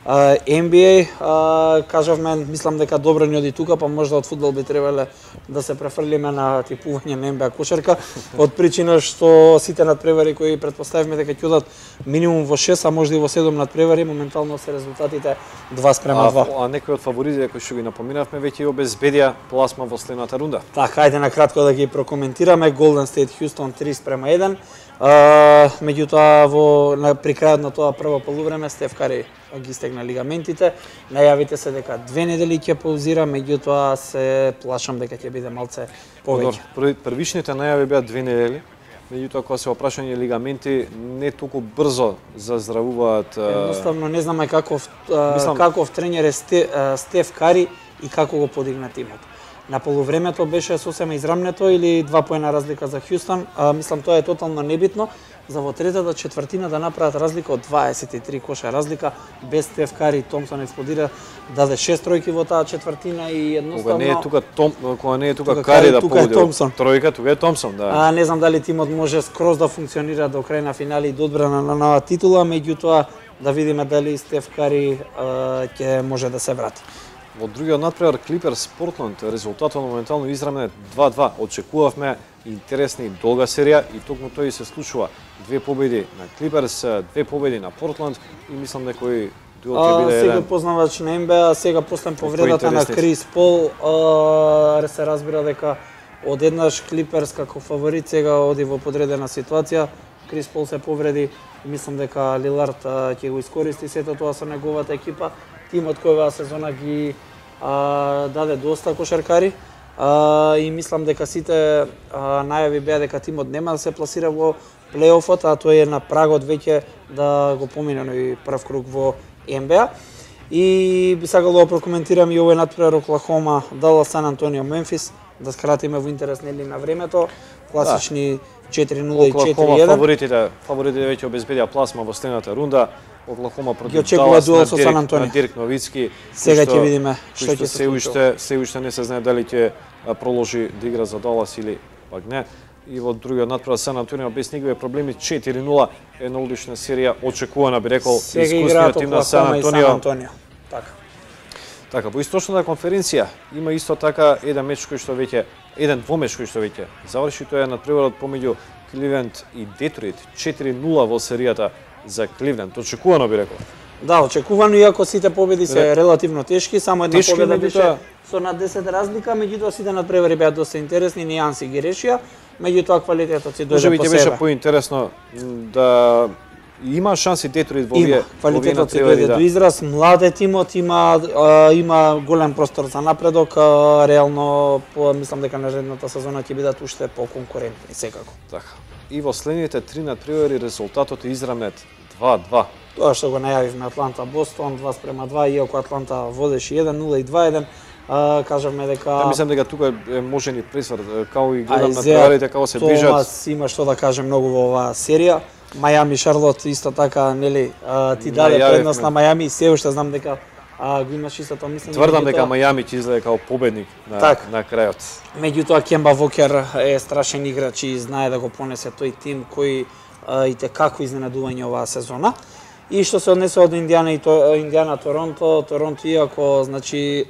Н Б А. Кажавме, мислам дека добро ни оди тука, па можда од фудбал би требале да се префрлиме на типување на Н Б А кошарка, од причина што сите надпревари кои претпоставивме дека ќе одат минимум во шест, а можда и во седум надпревари, моментално се резултатите два спрема два. А, а некои од фаворитите кои што ги напоминавме веќе обезбедија пласма во следната рунда. Така, ајде на кратко да ги прокоментираме. Голден Стейт Хјустон три спрема еден. Uh, меѓутоа во на при крајот на тоа прво полувреме Стеф Кари ги стегна лигаментите. Најавите се дека две недели ќе паузира, меѓутоа се плашам дека ќе биде малце повеќе. Првишните најави беа две недели, меѓутоа кога се опрашање лигаменти не толку брзо заздравуваат. Едноставно не знаме каков Мислам... каков тренер е Стеф Кари и како го подигна тимот. На полувремето беше сосема израмнето или два поена разлика за Хјустон. А, мислам тоа е тотално небитно. За во третата четвртина да направат разлика од дваесет и три коша разлика без Стеф Кари. Томсон експлодира, даде шест тројки во таа четвртина и едноставно кога не е тука Том, кога не е тука, тука Кари да погоди тројка, тука е Томсон, да. А не знам дали тимот може скроз да функционира до крај на финали и до одбрана на нова титула, меѓутоа да видиме дали Стеф Кари ќе може да се врати. Во другиот надпревар Клиперс Портланд резултатот моментално изравнен два-два. Очекувавме интересна и долга серија и токму тој се случува. Две победи на Клиперс, две победи на Портланд и мислам дека кој дуел ќе биде еден. Сега познавач на Н Б А, сега после повредата на Крис Пол, а, се разбира дека одеднаш Клиперс како фаворит сега оди во подредена ситуација. Крис Пол се повреди и мислам дека Лилард ќе го искористи сето тоа со неговата екипа. Тимот кој оваа сезона ги а, даде доста кошаркари а, и мислам дека сите а, најави беа дека тимот нема да се пласира во плейофот, а тој е на прагот веќе да го помине и прв круг во Н Б А. И би сакал да го прокоментирам и овој надпревар Оклахома, Далас, Сан Антонио, Мемфис, да скратиме во интерес нели на времето. Класични четири нула и четири еден. Оклахома фаворитите, фаворитите веќе обезбедија пласма во следната рунда. Оклахома против Далас на Дирк, на Дирк Новицки. Сега ќе видиме што ќе се случи. Се уште не се знае дали ќе проложи да игра за Далас или пак не. И во другиот надпревар Сан Антонио без никакви проблеми четири нула, една одлична серија, очекувана би рекол искусниот тим на Сан Антонио. Така. Така, во источната конференција има исто така еден меч кој што веќе еден двомеч кој што веќе заврши, тоа е надпреварот помеѓу Кливленд и Детройт, четири нула во серијата за Кливленд. Очекувано би рекол. Да, очекувано, иако сите победи се релативно тешки, само една тешки, победа беше со над десет разлика, меѓутоа сите надпревари беа доста интересни, нијанси ги решија, меѓутоа квалитетот си дојде по себе. Може би ќе беше поинтересно да има шанси Детройт во овие квалитетот си дојде до израз, младе тимот има а, има голем простор за напредок, а, реално по, мислам дека наредната сезона ќе бидат уште поконкурентни секако. Така. И во следните три надпревари резултатот е изравнет два-два. Тоа што го најавивме Атланта Бостон два спрема два, иако Атланта водеше еден нула и два еден. А, кажавме дека Ја мислам дека тука е можен и пресврт, као и гледам на надпреварите како се движат. Томас има што да каже многу во оваа серија. Мајами Шарлот исто така, нели, а, ти даде предност на Мајами и се уште знам дека а, го имаш истото мислење. Тврдам дека Мајами ќе изгледа како победник на так. на крајот. Меѓутоа Кемба Вокер е страшен играч и знае да го понесе тој тим кој а, и те како изненадување оваа сезона. И што се однесува до Индијана и то, Индијана Торонто, Торонто иако значи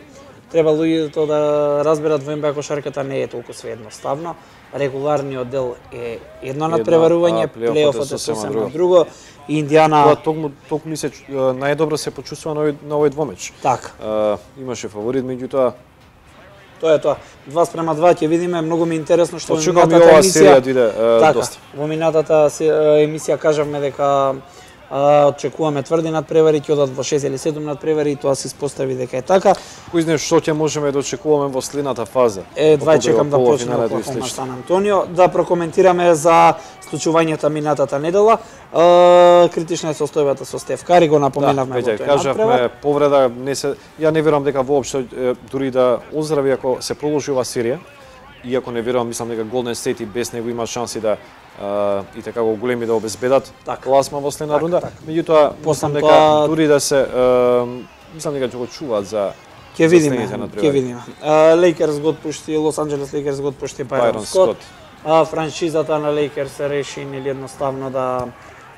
треба луѓето да разберат во Н Б А кошарката не е толку све едноставно. Регуларниот дел е едно надпреварување, плейофот е сосема друго. Индијана Тоа токму токму ми се најдобро се почувствува на овој на овој двомеч. Така. А, имаше фаворит, меѓутоа тоа е тоа. два спрема два ќе видиме, многу ми интересно што во минатата емисија диде така, доста. Во минатата емисија кажавме дека А, очекуваме тврди надпревари, ќе одат во шест или седум надпревари и тоа се испостави дека е така. Кој знае што ќе можеме да очекуваме во следната фаза? Е, два чекам да почне Оклахома Сан Антонио, да прокоментираме за случувањата минатата недела. А, критична е состојбата со Стеф Кари, го напоменавме да, во тој кажавме повреда, не се ја не верувам дека воопшто дури да оздрави ако се продолжи оваа серија. Иако не верувам, мислам дека Голден Стейт и без него има шанси да Uh, и така го големи да обезбедат класма во следна рунда. Меѓутоа, мислам дека тоа... дури да се uh, мислам дека ќе го чуваат за ќе видиме, ќе видиме. Лейкерс го отпушти, Лос Анџелес Лейкерс го отпушти Байрон Скот. А франшизата на Лейкерс се реши нели едноставно да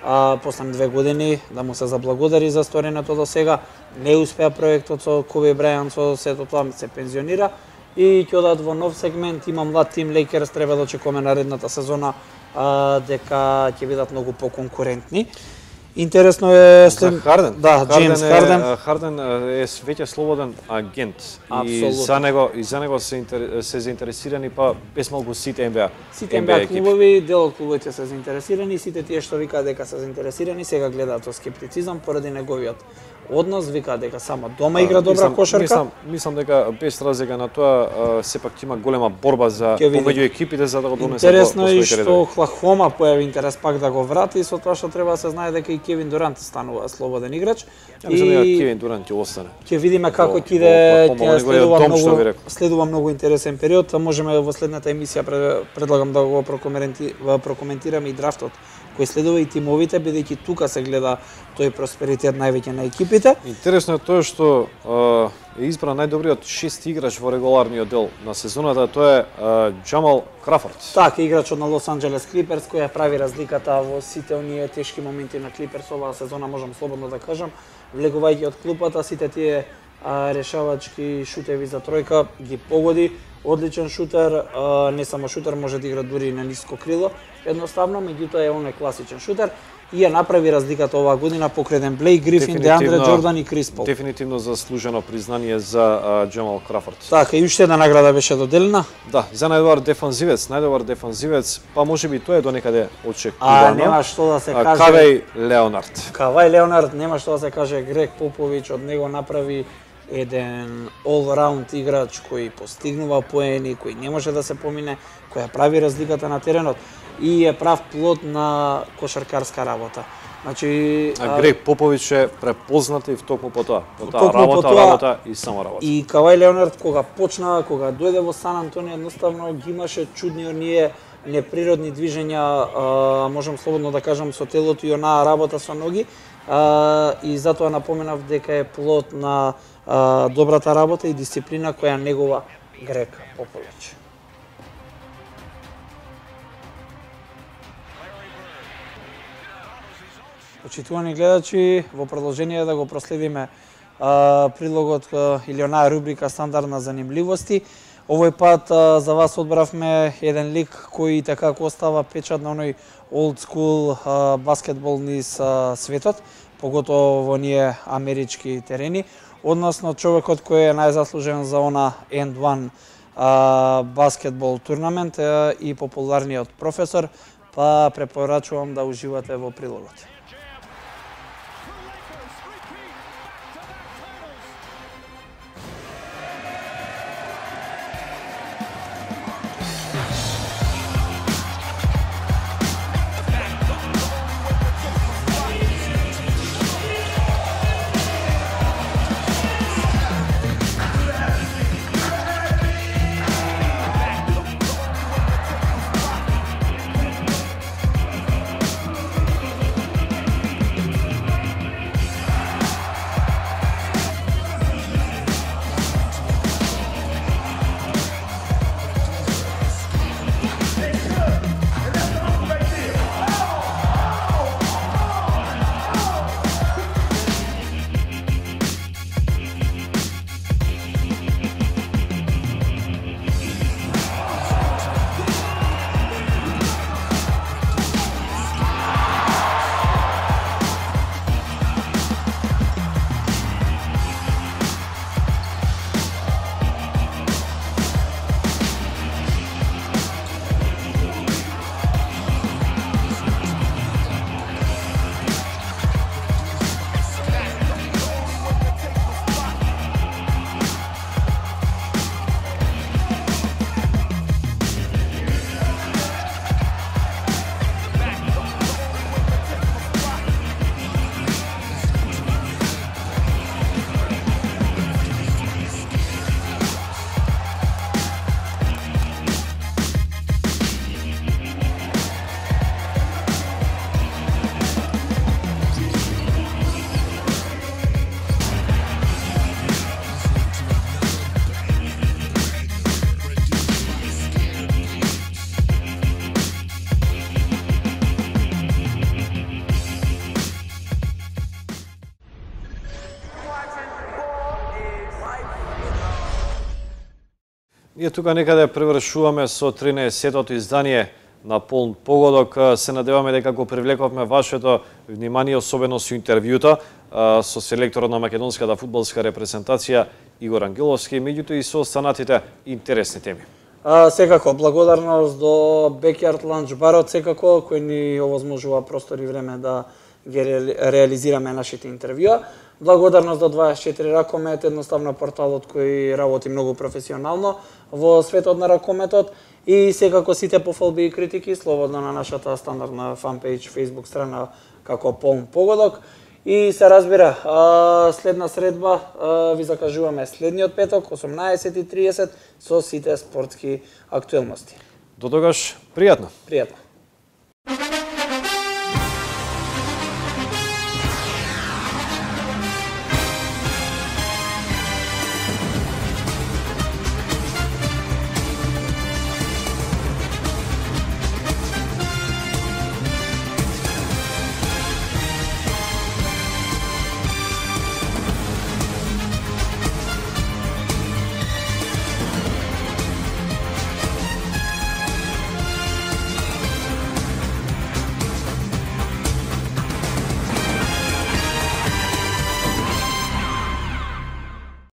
а, после две години да му се заблагодари за стореното до сега. Не успеа проектот со Коби Брајант, со сето тоа се пензионира и ќе одат во нов сегмент. Има млад тим, Лейкерс треба да очекуваме наредната сезона а, дека ќе бидат многу поконкурентни. Интересно е след Харден. Да, Джеймс Харден. Е, Харден е веќе слободен агент. Абсолютно. И за него и за него се интер, се заинтересирани па без малку сите Н Б А. Сите Н Б А клубови, дел од клубовите се заинтересирани, сите тие што викаат дека се заинтересирани, сега гледаат со скептицизам поради неговиот однос, вика дека само дома игра добра мислам, кошарка. Мислам, мислам дека без разлика на тоа, сепак има голема борба за помеѓу екипите за да го донесе. Интересно е што Оклахома појави интерес пак да го врати, со тоа што треба да се знае дека и Кевин Дурант станува слободен играч. Ја мислам дека Кевин Дурант ќе остане. Ќе видиме како ќе иде, ќе следува многу, следува многу интересен период. Можеме во следната емисија предлагам да го прокоментираме и драфтот кој следува и тимовите, бидејќи тука се гледа тој просперитет највеќе на екипите. Интересно е тоа што е избран најдобриот шести играч во регуларниот дел на сезоната, тоа е Джамал Крафорд. Така, играчот на Лос Анџелес Клиперс, која прави разликата во сите оние тешки моменти на Клиперс оваа сезона, можам слободно да кажам, влегувајќи од клупата, сите тие решавачки шутеви за тројка ги погоди. Одличен шутер, не само шутер, може да игра дури на ниско крило, едноставно, меѓутоа е он е класичен шутер и ја направи разликата оваа година покрај Блейк Грифин, Деандре Джордан и Крис Пол. Дефинитивно заслужено признание за Джамал Крафорд. Така, и уште една награда беше доделена. Да, за најдобар дефанзивец, најдобар дефанзивец, па можеби тоа е до некаде А очекувано. нема што да се каже. Кавај Леонард. Кавај Леонард, нема што да се каже. Грег Попович од него направи еден all-round играч кој постигнува поени, кој не може да се помине, кој прави разликата на теренот и е прав плод на кошаркарска работа. Значи, а Грег Попович е препознат и токму по тоа, по таа работа, по тоа, работа и само работа. И Кавај Леонард кога почна, кога дојде во Сан Антонио, едноставно ги имаше чудни оние неприродни движења, а, можам слободно да кажам, со телото и онаа работа со ноги, а, и затоа напоменав дека е плод на а, добрата работа и дисциплина која негова Грег Попович. Почитувани гледачи, во продолжение да го проследиме а, прилогот а, или онаа рубрика стандардна занимливости. Овој пат а, за вас одбравме еден лик кој така остава печат на оној old school а, баскетбол низ а, светот, поготово во оние амерички терени, односно човекот кој е најзаслужен за она енд еден а, баскетбол турнамент а, и популарниот професор, па препорачувам да уживате во прилогот. Ние тука некаде превршуваме со тринаесеттото издание на полн погодок. Се надеваме дека го привлековме вашето внимание, особено со интервјута со селекторот на македонската фудбалска репрезентација Игор Ангеловски, меѓутоа и со останатите интересни теми. А, секако, благодарност до Backyard Lunch барот, секако, кој ни овозможува простор и време да ги реализираме нашите интервјуа. Благодарност до дваесет и четири Ракомет, едноставно порталот кој работи многу професионално во светот на ракометот и секако сите пофалби и критики слободно на нашата стандардна фанпејдж, Facebook страна како Полн погодок. И се разбира, следна средба ви закажуваме следниот петок, осумнаесет и тридесет, со сите спортски актуелности. До тогаш, пријатно. Пријатно.